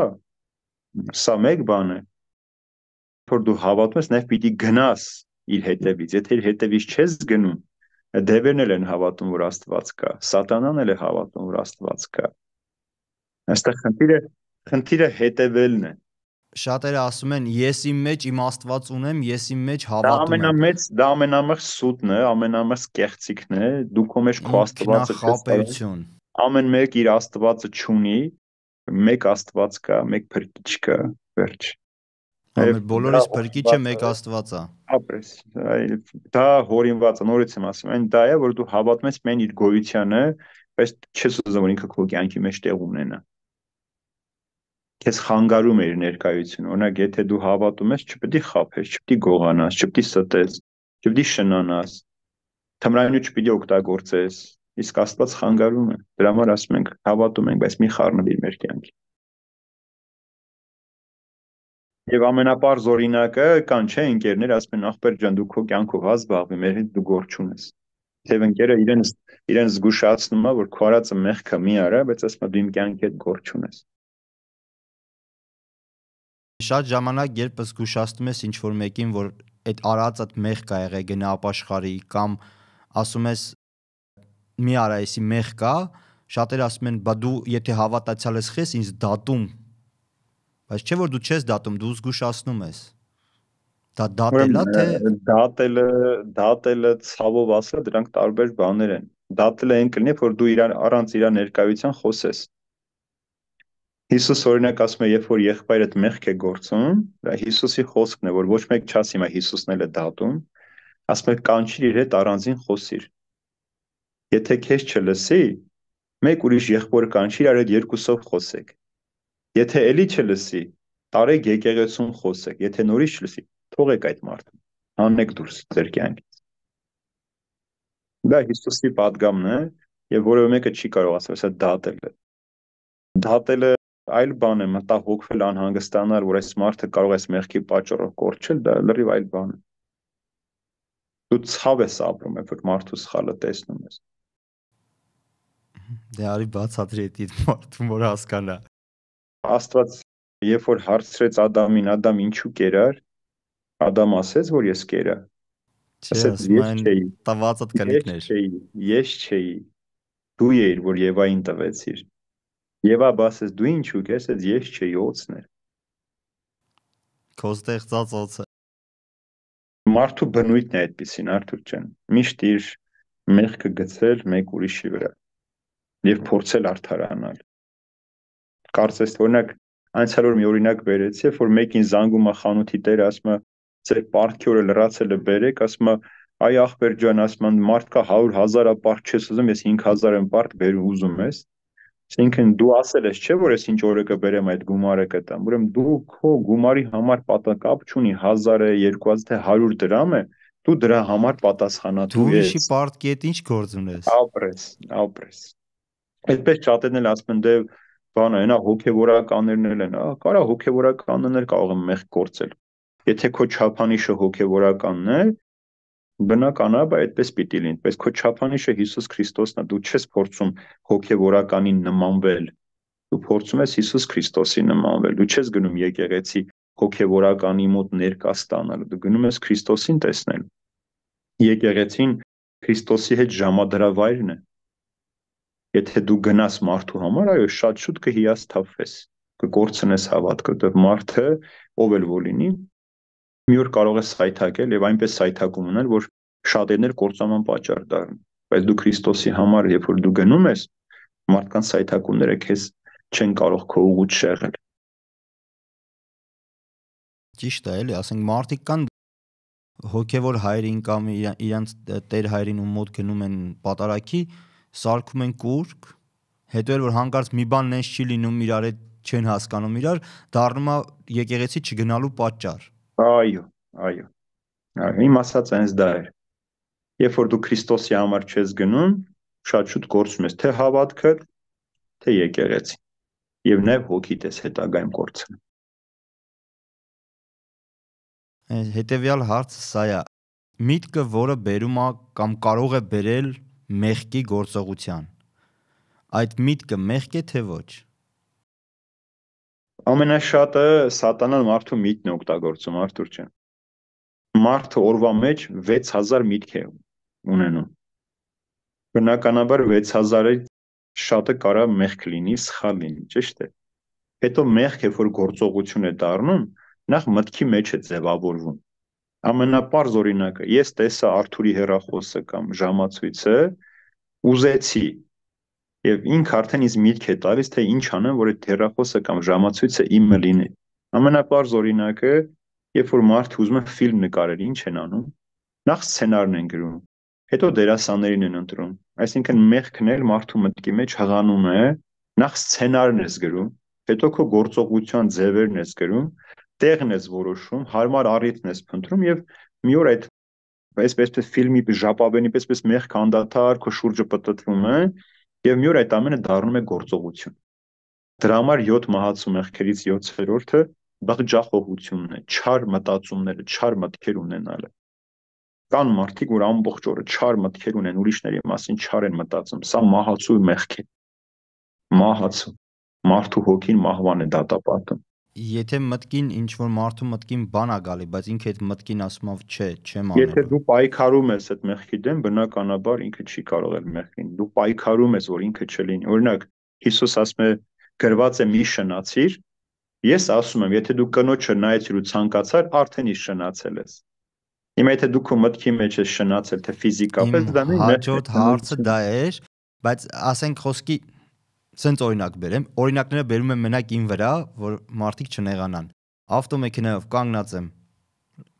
սա մեկ բան է։ Որ դու հավատում ես, նաև պիտի գնաս իր հետևից։ Եթե իր հետևից չես գնում, Դևերն էլ են հավատում, որ Աստված կա, Սատանան էլ է հավատում, որ Աստված կա։ Այստեղ խնդիրը հետևելն է։ Շատերը ասում են, ես իմ մեջ իմ Աստված ունեմ, ես իմ մեջ Դա հավատում եմ։ ամենամեծ սուտն է, ամենամեծ կեղծիքն է, դու քո մեջ քո Աստվածը չես կարող։ Ինքնախապեյություն։ Ամեն մեկ իր Աստվածը չունի, մեկ Աստված կա, մեկ Փրկիչ կա, վերջ։ Ամեն բոլորիս Փրկիչը մեկ Աստված է։ Ապրես, դա հորինված է, նորից եմ ասում, այն դա է, որ դու հավատում ես միայն իր գոյությանը, բայց չես ուզում, որ ինքը քո կյանքի մեջ տեղ ունենա։ Քեզ խանգարում է իր ներկայությունը։ Օրինակ, եթե դու հավատում ես, չպետք է խաբես, չպետք է գողանաս, չպետք է ստես, չպետք է շնանաս, թմրանյութ չպետք է օգտագործես, իսկ Աստված խանգարում է։ Դրա համար ասում ենք, հավատում ենք, բայց մի խառնվիր մեր կյանքի։ Եվ ամենապարզ օրինակը կան, չէ, ընկերներ ասում են, ախպեր ջան, դու քո կյանքով հա զբաղվի, մեր հետ դու գործ չունես։ Եվ ընկերը իրեն զգուշացնում է, որ քո արածը մեղք է, մի արա, բայց ասում է դու իմ կյանքի հետ գործ չունես։ Շատ ժամանակ երբ զգուշացնում ես ինչ-որ մեկին, որ այդ արածդ մեղք է եղել, գնա ապաշխարի, կամ ասում ես մի արա, էսի մեղք կա, շատերը ասում են, բա դու եթե հավատացյալ ես խես, ինձ դատում։ Բայց չէ որ դու չես դատում, դու զգուշացնում ես։ Դա դատելա թե դատելը ցավով ասա, դրանք տարբեր բաներ են։ Դատելը այն կլինի, որ դու առանց իր ներկայության խոսես։ Հիսուս օրինակ ասում է, երբ որ եղբայրդ մեղք է գործում, դա Հիսուսի խոսքն է, որ ոչ մեկ չասի, հիմա Հիսուսն էլ է դատում, ասում է կանչիր իր հետ առանձին խոսիր։ Եթե քեզ չլսի, մեկ ուրիշ եղբոր կանչիր, արդ երկուսով խոսեք։ Եթե էլի չլսի, տարեք եկեղեցում խոսեք, եթե նորից չլսի, թողեք այդ մարդուն, հանեք դուրս ձեր կյանքից։ Դա Հիսուսի պատգամն է, եւ որևէ մեկը չի կարող ասել, սա դատել է։ Դատելը այլ բան է, մտահոգվել, անհանգստանալ, որ այս մարդը կարող է այս մեղքի պատճառով կորչել, դա լրիվ այլ բան է։ Դու ցավ ես ապրում, երբ որ մարդու սխալը տեսնում ես։ Դե արի բացատրի այդ մարդուն, որ հասկանա։ Աստված երբ որ հարցրեց Ադամին, Ադամ ինչու կերար, Ադամ ասեց, որ ես կերա։ Ասեց ես չէի, տվածդ կնիկներ։ Ես չէի, դու էիր, որ Եվային տվեցիր։ Եվա ասեց դու ինչու կես, ես չէի, օծն էր։ Քո ստեղծած օծը։ Մարդու բնույթն է այդպեսին, Արթուր ջան։ Միշտ իր մեղքը գցել մեկ ուրիշի վրա եւ փորձել արդարանալ։ Կարծես օրինակ անցյալ օր մի օրինակ բերեցի, որ մեկին զանգում է խանութի տերը, ասում է ձեր պարտքի օրը լրացել է բերեք, ասում է այ ախպեր ջան, ասում է մարդ կա 100,000-ը պարտ չես ուզում, ես 5,000 եմ պարտ բերում ուզում ես։ Այսինքն դու ասել ես, չէ՞ որ ես ինչ օրը կբերեմ այդ գումարը կտամ։ Ուրեմն դու քո գումարի համար պատասխան չունի 1000-ը, 2000 թե 100 դրամ է, դու դրա համար պատասխանատու ես։ Դու իշի պարտքի հետ ինչ գործ ունես։ Ապրես։ Այդպես շատերն էլ ասում են դե բանը, այնա հոգևորականներն էլ են, կարա հոգևորականներն էլ կարող են մեղք գործել։ Եթե քո չափանիշը հոգևորականն է, բնականաբար այդպես պիտի լինի, բայց քո չափանիշը Հիսուս Քրիստոսն է, դու չես փորձում հոգևորականին նմանվել, դու փորձում ես Հիսուս Քրիստոսի նմանվել, դու չես գնում եկեղեցի հոգևորականի մոտ ներկա ստանալ, դու գնում ես Քրիստոսին տեսնել։ Եկեղեցին Քրիստոսի հետ ժամադրավայրն է։ Եթե դու գնաս մարդու համար, այո, շատ շուտ կհիասթափվես, կկորցնես հավատքը, դեռ մարդը ով էլ որ լինի, մի օր կարող է սայթակել եւ այնպես սայթակում ունել, որ շատերներ կործանման պատճառ դառնան։ Բայց դու Քրիստոսի համար, երբ որ դու գնում ես, մարդկանց սայթակումները քեզ չեն կարող քո ուղուց շեղել։ Ճիշտ է, էլի, ասենք մարդիկ կան հոգևոր հայրին կամ իրանց տեր հայրին ու մոտ գնում են պատարակի, սարքում են կուրկ, հետո էլ որ հանկարծ մի բան նենց չի լինում, իրար հետ չեն հասկանում իրար, դառնում է եկեղեցի չգնալու պատճառ։ Այո։ Իմ ասած այնպես դա է։ Երբ որ դու Քրիստոսի համար չես գնում, շատ շուտ կորցնում ես թե հավատքը, թե եկեղեցի։ Եվ նաև հոգիդ ես հետագայում կորցնում։ Հետևյալ հարցը սա է. միտքը, որը բերում է կամ կարող է բերել մեղքի գործողության։ Այդ միտքը մեղք է թե ոչ։ Ամենաշատը սատանան մարդու միտքն է օգտագործում, Արթուր ջան։ Մարդը օրվա մեջ 6000 միտք է ունենում։ Բնականաբար 6000-ից շատը կարա մեղք լինի, սխալ լինի, ճիշտ է։ Հետո մեղք, երբ որ գործողություն է դառնում, նախ մտքի մեջ է ձևավորվում։ Ամենապարզ օրինակը, ես տեսա Արթուրի հեռախոսը կամ ժամացույցը, ուզեցի, եւ ինքը արդեն ինձ միտք է տալիս, թե ինչ անեմ, որ այդ հեռախոսը կամ ժամացույցը իմը լինի։ Ամենապարզ օրինակը, երբ որ մարդը ուզում է ֆիլմ նկարել, ինչ են անում, նախ սցենարն են գրում, հետո դերասաններին են ընտրում, այսինքն մեղքն էլ մարդու մտքի մեջ հղանում է, նախ սցենարն ես գրում, հետո քո գործողության ձևերն ես գրում, տեղն ես որոշում, հարմար առիթն ես փնտրում եւ մի օր այդ այսպես ֆիլմի ժապավենի պես մեղք անդադար քո շուրջը պտտվում է եւ մի օր այդ ամենը դառնում է գործողություն։ Դրա համար 7 մահացու մեղքերից 7-րդը բղջախոհությունն է, չար մտածումները, չար մտքեր ունենալը։ Կան մարդիկ, որ ամբողջ օրը չար մտքեր ունեն, ուրիշների մասին չար են մտածում, սա մահացու մեղք է։ Մահացու, մարդու հոգին մահվան է դատապարտում։ Եթե մտքին ինչ որ մարդու մտքին բան է գալի, բայց ինքը այդ մտքին ասում է չէ, չեմ անելու։ Եթե դու պայքարում ես այդ մեղքի դեմ, բնականաբար ինքը չի կարող էլ մեղք լինի։ Դու պայքարում ես, որ ինքը չլինի։ Օրինակ, Հիսուս ասում է, գրված է մի շնացիր, ես ասում եմ, եթե դու կնոջը նայեցիր ու ցանկացար, արդեն իսկ շնացել ես։ Հիմա եթե դու քո մտքի մեջ ես շնացել, թե ֆիզիկապես դա մի մեղք է։ Հաջորդ հարցը դա էր, բայց ասենք խոսքի սենց օրինակ բերեմ, օրինակները բերում եմ մենակ ին վրա, որ մարդիկ չնեղանան։ Ավտոմեքենայով կանգնած եմ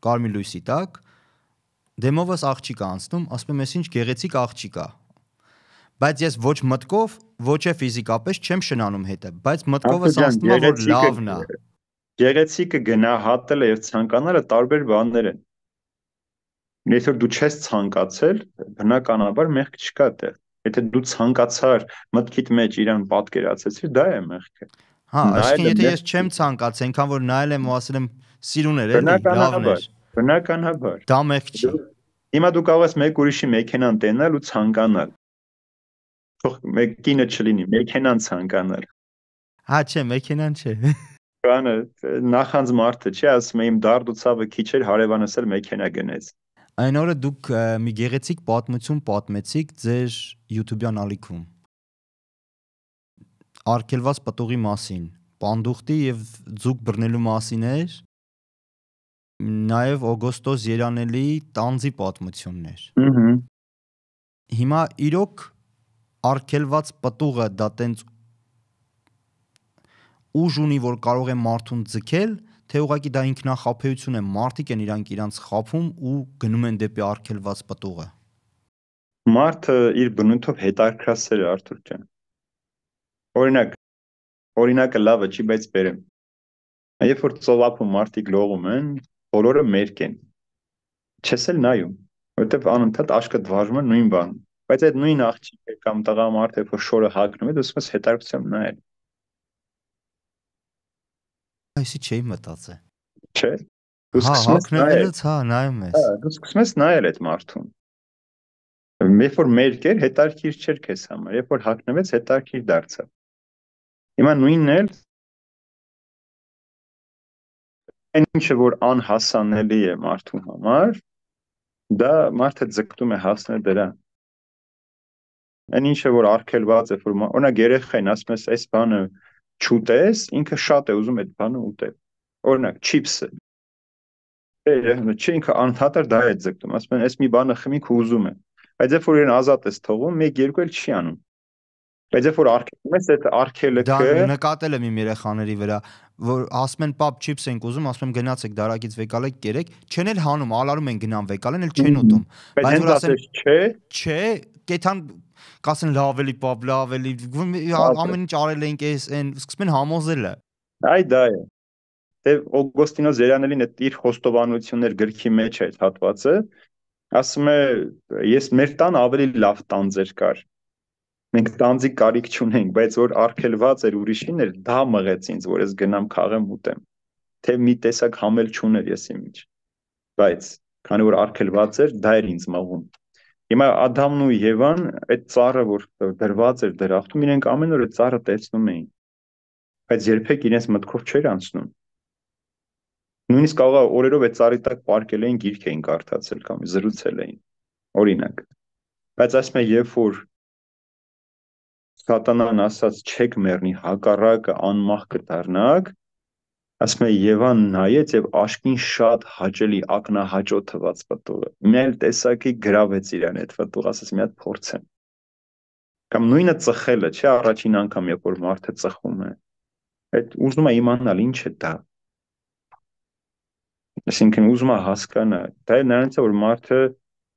կարմիր լույսի տակ, դեմովս աղջիկ անցնում, ասում եմ, ինչ գեղեցիկ աղջիկ է։ Բայց ես ոչ մտքով, ոչ է ֆիզիկապես չեմ շնանում հետը, բայց մտքովս ասում եմ, որ լավն է։ Գեղեցիկը գնահատելը եւ ցանկանալը տարբեր բաներ են։ Եթե դու չես ցանկացել, բնականաբար մեղք չկա դեռ։ Եթե դու ցանկացար մտքիդ մեջ իրան պատկերացեցիր, դա է մեղքը։ Հա, այսինքն եթե ես չեմ ցանկացել, այնքան որ նայել եմ ու ասել եմ սիրուն էր, էլի, լավն էր։ Բնականաբար։ Դա մեղք չի։ Հիմա դու կարող ես մեկ ուրիշի մեքենան տենալ ու ցանկանալ։ Թող մեկ կինը չլինի, մեքենան ցանկանալ։ Հա, չէ, մեքենան չէ։ Բանը նախանձ մարդը չի, ասում եմ դարդ ու ցավը քիչ էր, հարևանս էլ մեքենա գնեց։ Այն օրը դուք մի գեղեցիկ պատմություն պատմեցիք ձեր YouTube-յան ալիքում։ Արգելված պտուղի մասին, պանդուխտի եւ ձուկ բռնելու մասին էր, նաեւ Օգոստոս Երանելի տանձի պատմությունն էր։ Հիմա իրոք արգելված պտուղը դա տենց ուժ ունի, որ կարող է մարդուն ձգել, թե ուղղակի դա ինքնախաբեություն է, մարդիկ են իրանք խաբում ու գնում են դեպի արգելված պտուղը։ Մարդը իր բնույթով հետարքրասեր է, Արթուր ջան։ Օրինակը լավը չի, բայց բերեմ։ Երբ որ ծովափում մարդիկ լողում են, բոլորը մերկ են։ Չես էլ նայում, որովհետև անընդհատ աշկդ վարժում է նույն բան։ Բայց այդ նույն աղջիկը կամ տղամարդը, երբ որ շորը հագնում է, դու սկսում ես հետարքությամբ նայել։ Այսի չէի մտածել։ Չէ։ Դու սկսում ես հագնելուց, հա, նայում ես։ Հա, դու սկսում ես նայել այդ մարդուն։ Երբ որ մերկ էր, հետարքիր չէր քեզ համար, երբ որ հագնվեց, հետարքիր դարձավ։ Հիմա նույնն էլ այն ինչը որ անհասանելի է մարդու համար, դա մարդը ձգտում է հասնել դրան։ Այն ինչը որ արգելված է, որ օրինակ երեխային ասում ես, այս բանը չուտես, ինքը շատ է ուզում այդ բանը ուտել։ Օրինակ չիփսը։ Չէ, ինքը անհատար դա է ձգտում, ասում են, այս մի բանը խմի քո ուզում է։ Բայց երբ որ իրեն ազատ ես թողում, 1-2 էլ չի անում։ Բայց երբ որ արգելում ես, այդ արգելքը դա նկատել եմ իմ երեխաների վրա, որ ասում են պապ չիփս ենք ուզում, ասում եմ գնացեք դարակից վեկալեք կերեք, չեն էլ հանում, ալարում են գնան վեկալեն, էլ չեն ուտում։ Բայց որ ասեն չէ, կեթան կասեն լավ էլի պապ, լավ էլի, ամեն ինչ արել ենք այն, սկսում են համոզելը։ Այ դա է։ Դե Օգոստինոս Երանելին այդ իր խոստովանություններ գրքի մեջ է այդ հատվածը, ասում է, ես մեր տան ավելի լավ տանձեր կար։ Մենք տանձի կարիք չունենք, բայց որ արգելված էր ուրիշին էր, դա մղեց ինձ, որ ես գնամ քաղեմ ուտեմ։ Թե մի տեսակ համել չուներ ես իմ մեջ։ Բայց քանի որ արգելված էր, դա էր ինձ մղում։ Հիմա Ադամն ու Եվան այդ ծառը, որ դրված էր դրախտում, իրենք ամեն օր այդ ծառը տեսնում էին։ Բայց երբեք իրենց մտքով չէր անցնում։ Նույնիսկ կարող է օրերով այդ ծառի տակ պարկել էին, գիրք էին կարդացել կամ զրուցել էին։ Օրինակ։ Բայց ասում եմ, երբ որ Սատանան ասաց չեք մեռնի, հակառակը անմահ կդառնաք, ասում եմ Եվան նայեց եւ աշկին շատ հաճելի ակնահաճո թված պտուղը։ Մի այլ տեսակի գրավեց իրան այդ պտուղը, ասաց մի հատ փորձեմ։ Կամ նույնը ծխելը, չէ, առաջին անգամ երբ որ մարդը ծխում է։ Այդ ուզում է իմանալ ինչ է դա։ Այսինքն ուզում է հասկանա, դա է նրանից որ մարդը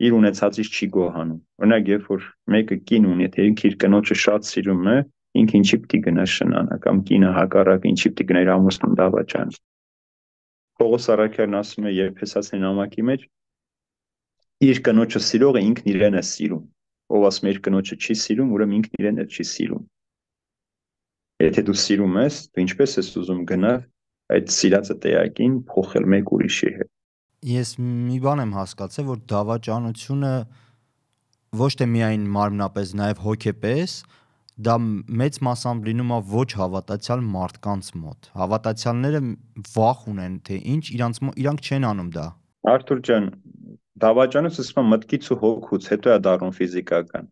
իր ունեցածից չի գոհանում։ Օրինակ, երբ որ մեկը կին ունի, եթե ինքը իր կնոջը շատ սիրում է, ինքը ինչի պիտի գնա շնանա, կամ կինը հակառակը ինչի պիտի գնա իր ամուսնուն դավաճան։ Պողոս առաքյալն ասում է Եփեսացին նամակի մեջ, իր կնոջը սիրողը ինքն իրեն է սիրում։ Ով ասում է իր կնոջը չի սիրում, ուրեմն ինքն իրեն էլ չի սիրում։ Եթե դու սիրում ես, դու ինչպես ես ուզում գնալ այդ սիրածը տեղակին փոխել մեկ ուրիշի հետ։ Ես մի բան եմ հասկացել, որ դավաճանությունը ոչ թե միայն մարմնապես, նաև հոգեպես, դա մեծ մասամբ լինում է ոչ հավատացյալ մարդկանց մոտ։ Հավատացյալները վախ ունեն, թե ինչ իրանք չեն անում դա։ Արթուր ջան, դավաճանը ասում եմ մտքից ու հոգուց, հետո է դառնում ֆիզիկական։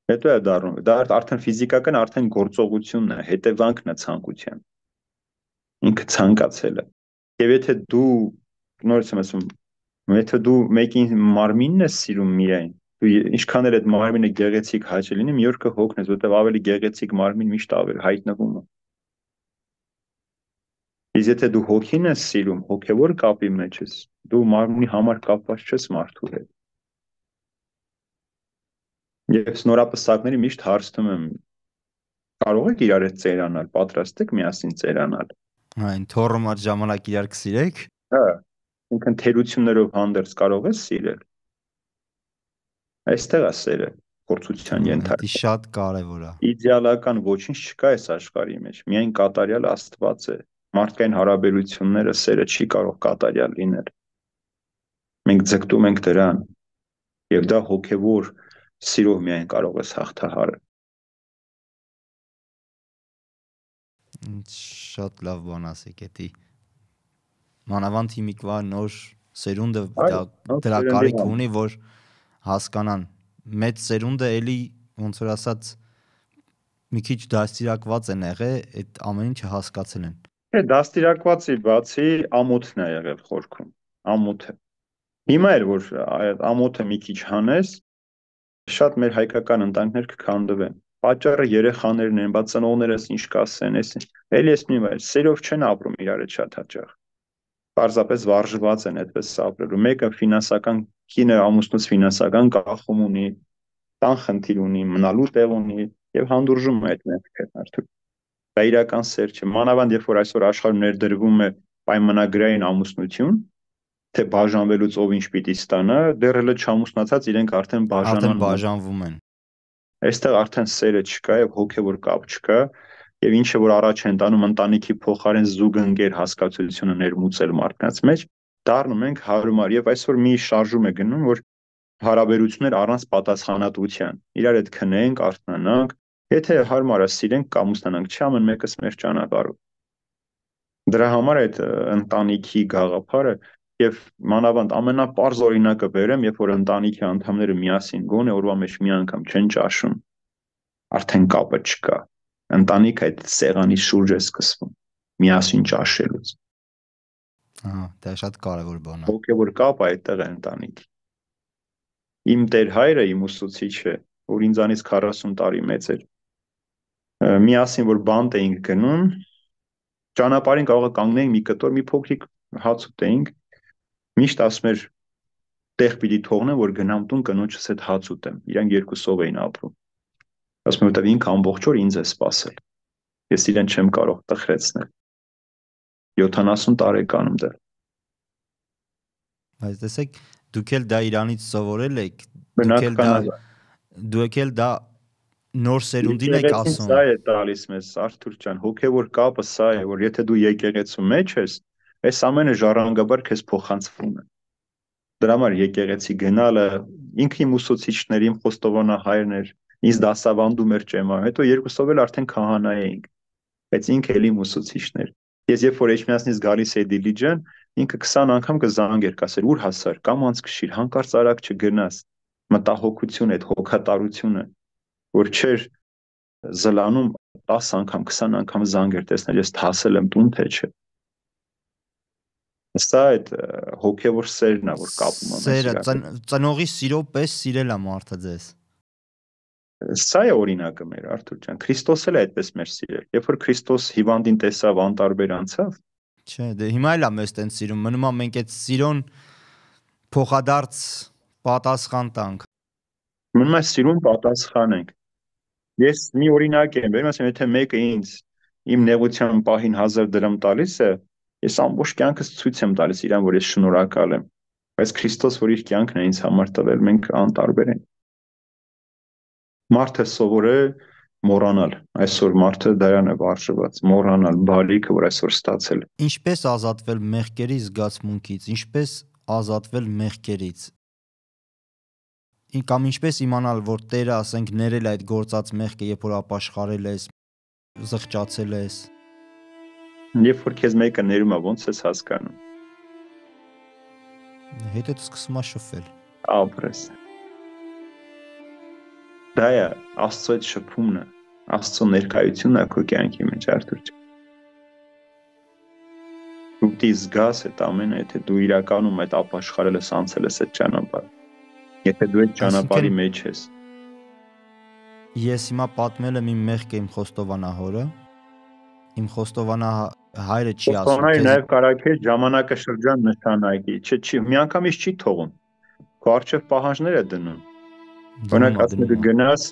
Հետո է դառնում, դա արդեն ֆիզիկական, արդեն գործողությունն է, հետևանքն է ցանկության։ Ինքը ցանկացել է։ Եվ եթե դու նորից եմ ասում, եթե դու մեկին մարմինն ես սիրում միայն, դու ինչքան էլ այդ մարմինը գեղեցիկ հաճելի լինի, մի օր կհոգնես, որտեղ ավելի գեղեցիկ մարմին միշտ ավելի հայտնվում է։ Իսկ եթե դու հոգին ես սիրում, հոգևոր կապի մեջ ես, դու մարմնի համար կապված չես մարդու հետ։ Եվ սնորապսակների միշտ հարցնում եմ, կարող եք իրար հետ ծերանալ, պատրաստ եք միասին ծերանալ։ Այն թոռոմած ժամանակ իրար կսիրեք։ Հա, ինքն թերություններով հանդերձ կարող ես սիրել։ Այստեղ է սերը փորձության Դա ենթարկվում։ շատ կարևոր է։ Իդեալական ոչինչ չկա այս աշխարհի մեջ, միայն կատարյալ Աստված է։ Մարդկային հարաբերությունները սերը չի կարող կատարյալ լինել։ Մենք ձգտում ենք դրան, եւ դա հոգեվոր սիրով միայն կարող ես հաղթահարել։ Շատ լավ բան ասեք էդի։ Մանավանդ հիմիկվա նոր սերունդը դրա կարիք ունի, որ հասկանան։ Մեծ սերունդը էլի ոնց որ ասած մի քիչ դաստիարակված են եղել, այդ ամեն ինչը հասկացել են։ Է դաստիարակվածի բացի ամոթն է եղել խորքում, ամոթը։ Հիմա էլ որ այդ ամոթը մի քիչ հանես, շատ մեր հայկական ընտանիքներ կքանդվեն։ Պատճառը երեխաներն են, բա ծնողներս ինչ կասեն, էլի ես մի բան, սերով չեն ապրում իրար հետ շատ հաճախ։ Պարզապես վարժված են այդպես ապրելու։ Մեկը ֆինանսական կինը ամուսնուց ֆինանսական կախում ունի, տան խնդիր ունի, մնալու տեղ ունի եւ հանդուրժում է այդ մեղքը արդյոք։ Դա իրական սեր չէ։ Մանավանդ երբ որ այսօր աշխարհում ներդրվում է պայմանագրային ամուսնություն, թե բաժանվելուց ով ինչ պիտի ստանա, դեռ հələ չամուսնացած իրենք արդեն բաժանվում են։ Այստեղ արդեն սերը չկա եւ հոգեվոր կապ չկա եւ ինչը որ առաջ են տանում ընտանիքի փոխարեն զուգընկեր հասկացությունը ներմուծել մարդկանց մեջ, դառնում ենք հարմար եւ այսօր մի շարժում է գնում, որ հարաբերություններ առանց պատասխանատվության, իրար հետ քնենք, արթնանանք, եթե հարմար է սիրենք կամ ուսնանանք, չի ամեն մեկս մեր ճանապարհով։ Դրա համար այդ ընտանիքի գաղափարը եւ մանավանդ ամենապարզ օրինակը բերեմ, երբ որ ընտանիքի անդամները միասին գոնե օրվա մեջ մի անգամ չեն ճաշում, արդեն կապը չկա։ Ընտանիքը այդ սեղանի շուրջ է սկսվում, միասին ճաշելուց։ Ահա, դա շատ կարևոր բան է։ Հոգեվոր կապը այդտեղ է ընտանիքի։ Իմ տեր հայրը, իմ ուսուցիչը, որ ինձանից 40 տարի մեծ էր, միասին որ բանտ էինք գնում, ճանապարհին կարող է կանգնեինք մի կտոր, մի փոքրիկ հաց ուտեինք, միշտ ասում էր տեղ պիտի թողնեմ, որ գնամ տուն կնոջս հետ հաց ուտեմ։ Իրանք երկուսով էին ապրում։ Ասում եմ, որտեվ ինքը ամբողջ օր ինձ է սպասել։ Ես իրեն չեմ կարող տխրեցնել։ 70 տարեկանում դեռ։ Բայց տեսեք, դուք էլ դա իրանից սովորել եք, դուք էլ դա նոր սերունդին եք ասում։ Սա է տալիս մեզ Արթուր ջան, հոգևոր կապը սա է, որ եթե դու եկեղեցու մեջ ես, այս ամենը ժառանգաբար քեզ փոխանցվում է։ Դրա համար եկեղեցի գնալը, ինքը իմ ուսուցիչներ, իմ խոստովանահայրն էր, ինձ դասավանդում էր ճեմարան, հետո երկուսով էլ արդեն քահանա էինք, բայց ինքը էլ իմ ուսուցիչն էր։ Ես երբ որ Էջմիածնից գալիս էի Դիլիջան, ինքը 20 անգամ կզանգեր, կասեր՝ ուր հասար, կամ անց քշիր, հանկարծ արագ չգնաս։ մտահոգությունը, այդ հոգատարությունը, որ չէր զլանում 10 անգամ, 20 անգամ զանգեր տեսնել, ես հասել եմ տուն, թե չէ։ Սա այդ հոգևոր սերն է, որ կապում է մեզ Սերը իրար։ ծնողի սիրո պես սիրել է մարդը ձեզ։ Սա է օրինակը մեր, Արթուր ջան, Քրիստոս էլ է այդպես մեր սիրել։ Երբ որ Քրիստոս հիվանդին տեսավ, անտարբեր անցավ, Չէ, դե հիմա էլ է մեզ տենց սիրում, մնում է մենք այդ սիրոն փոխադարձ պատասխան տանք։ մնում է սիրուն պատասխանենք։ Ես մի օրինակ եմ բերում, ասեմ, եթե մեկը ինձ իմ նեղության պահին 1000 դրամ տալիս է, ես ամբողջ կյանքս ցույց եմ տալիս իրան, որ ես շնորհակալ եմ։ Բայց Քրիստոս, որ իր կյանքն է ինձ համար տվել, մենք անտարբեր ենք։ Մարդը սովոր է մոռանալ, այսօր մարդը դրան է վարժված, մոռանալ բարիքը, որ այսօր ստացել է։ Ինչպես ազատվել մեղքերի զգացմունքից, ինչպես ազատվել մեղքերից։ Կամ ինչպես իմանալ, որ Տերը, ասենք, ներել է այդ գործած մեղքը, երբ որ ապաշխարել ես, զղջացել ես։ Երբ որ քեզ մեկը ներում է, ո՞նց ես հասկանում։ Հետո սկսում է շփվել։ Ապրես։ Դա է Աստծո այդ շփումն է, Աստծո ներկայությունն է քո կյանքի մեջ, Արթուր ջան։ Դու դի զգաս այդ ամենը, եթե դու իրականում այդ ապաշխարել ես, անցել ես այդ ճանապարհը։ Եթե դու այդ ճանապարհի մեջ ես։ Ես հիմա պատմել եմ իմ մեղքը իմ խոստովանահորը։ Իմ խոստովանահայրը չի ասում։ Խոստովանահայրը նաև կարող է ժամանակաշրջան նշանակի, չի, միանգամից չի թողում։ Քո առջև պահանջներ է դնում։ Օրինակ ասում եմ գնաս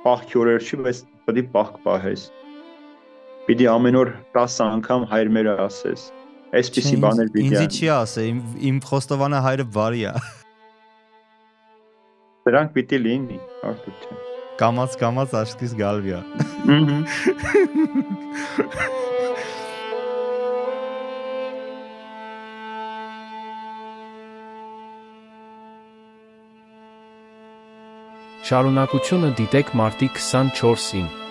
պահքի օրեր չի, բայց պետք է պահք պահես։ Պիտի ամեն օր 10 անգամ հայր մերը ասես։ Այսպիսի բաներ պիտի։ Ինձ չի ասել, իմ խոստովանահայրը բարի է։ Դրանք պիտի լինի, Արթուր ջան։ Կամաց աչքից գալվի է։ Շարունակությունը դիտեք մարտի 24-ին։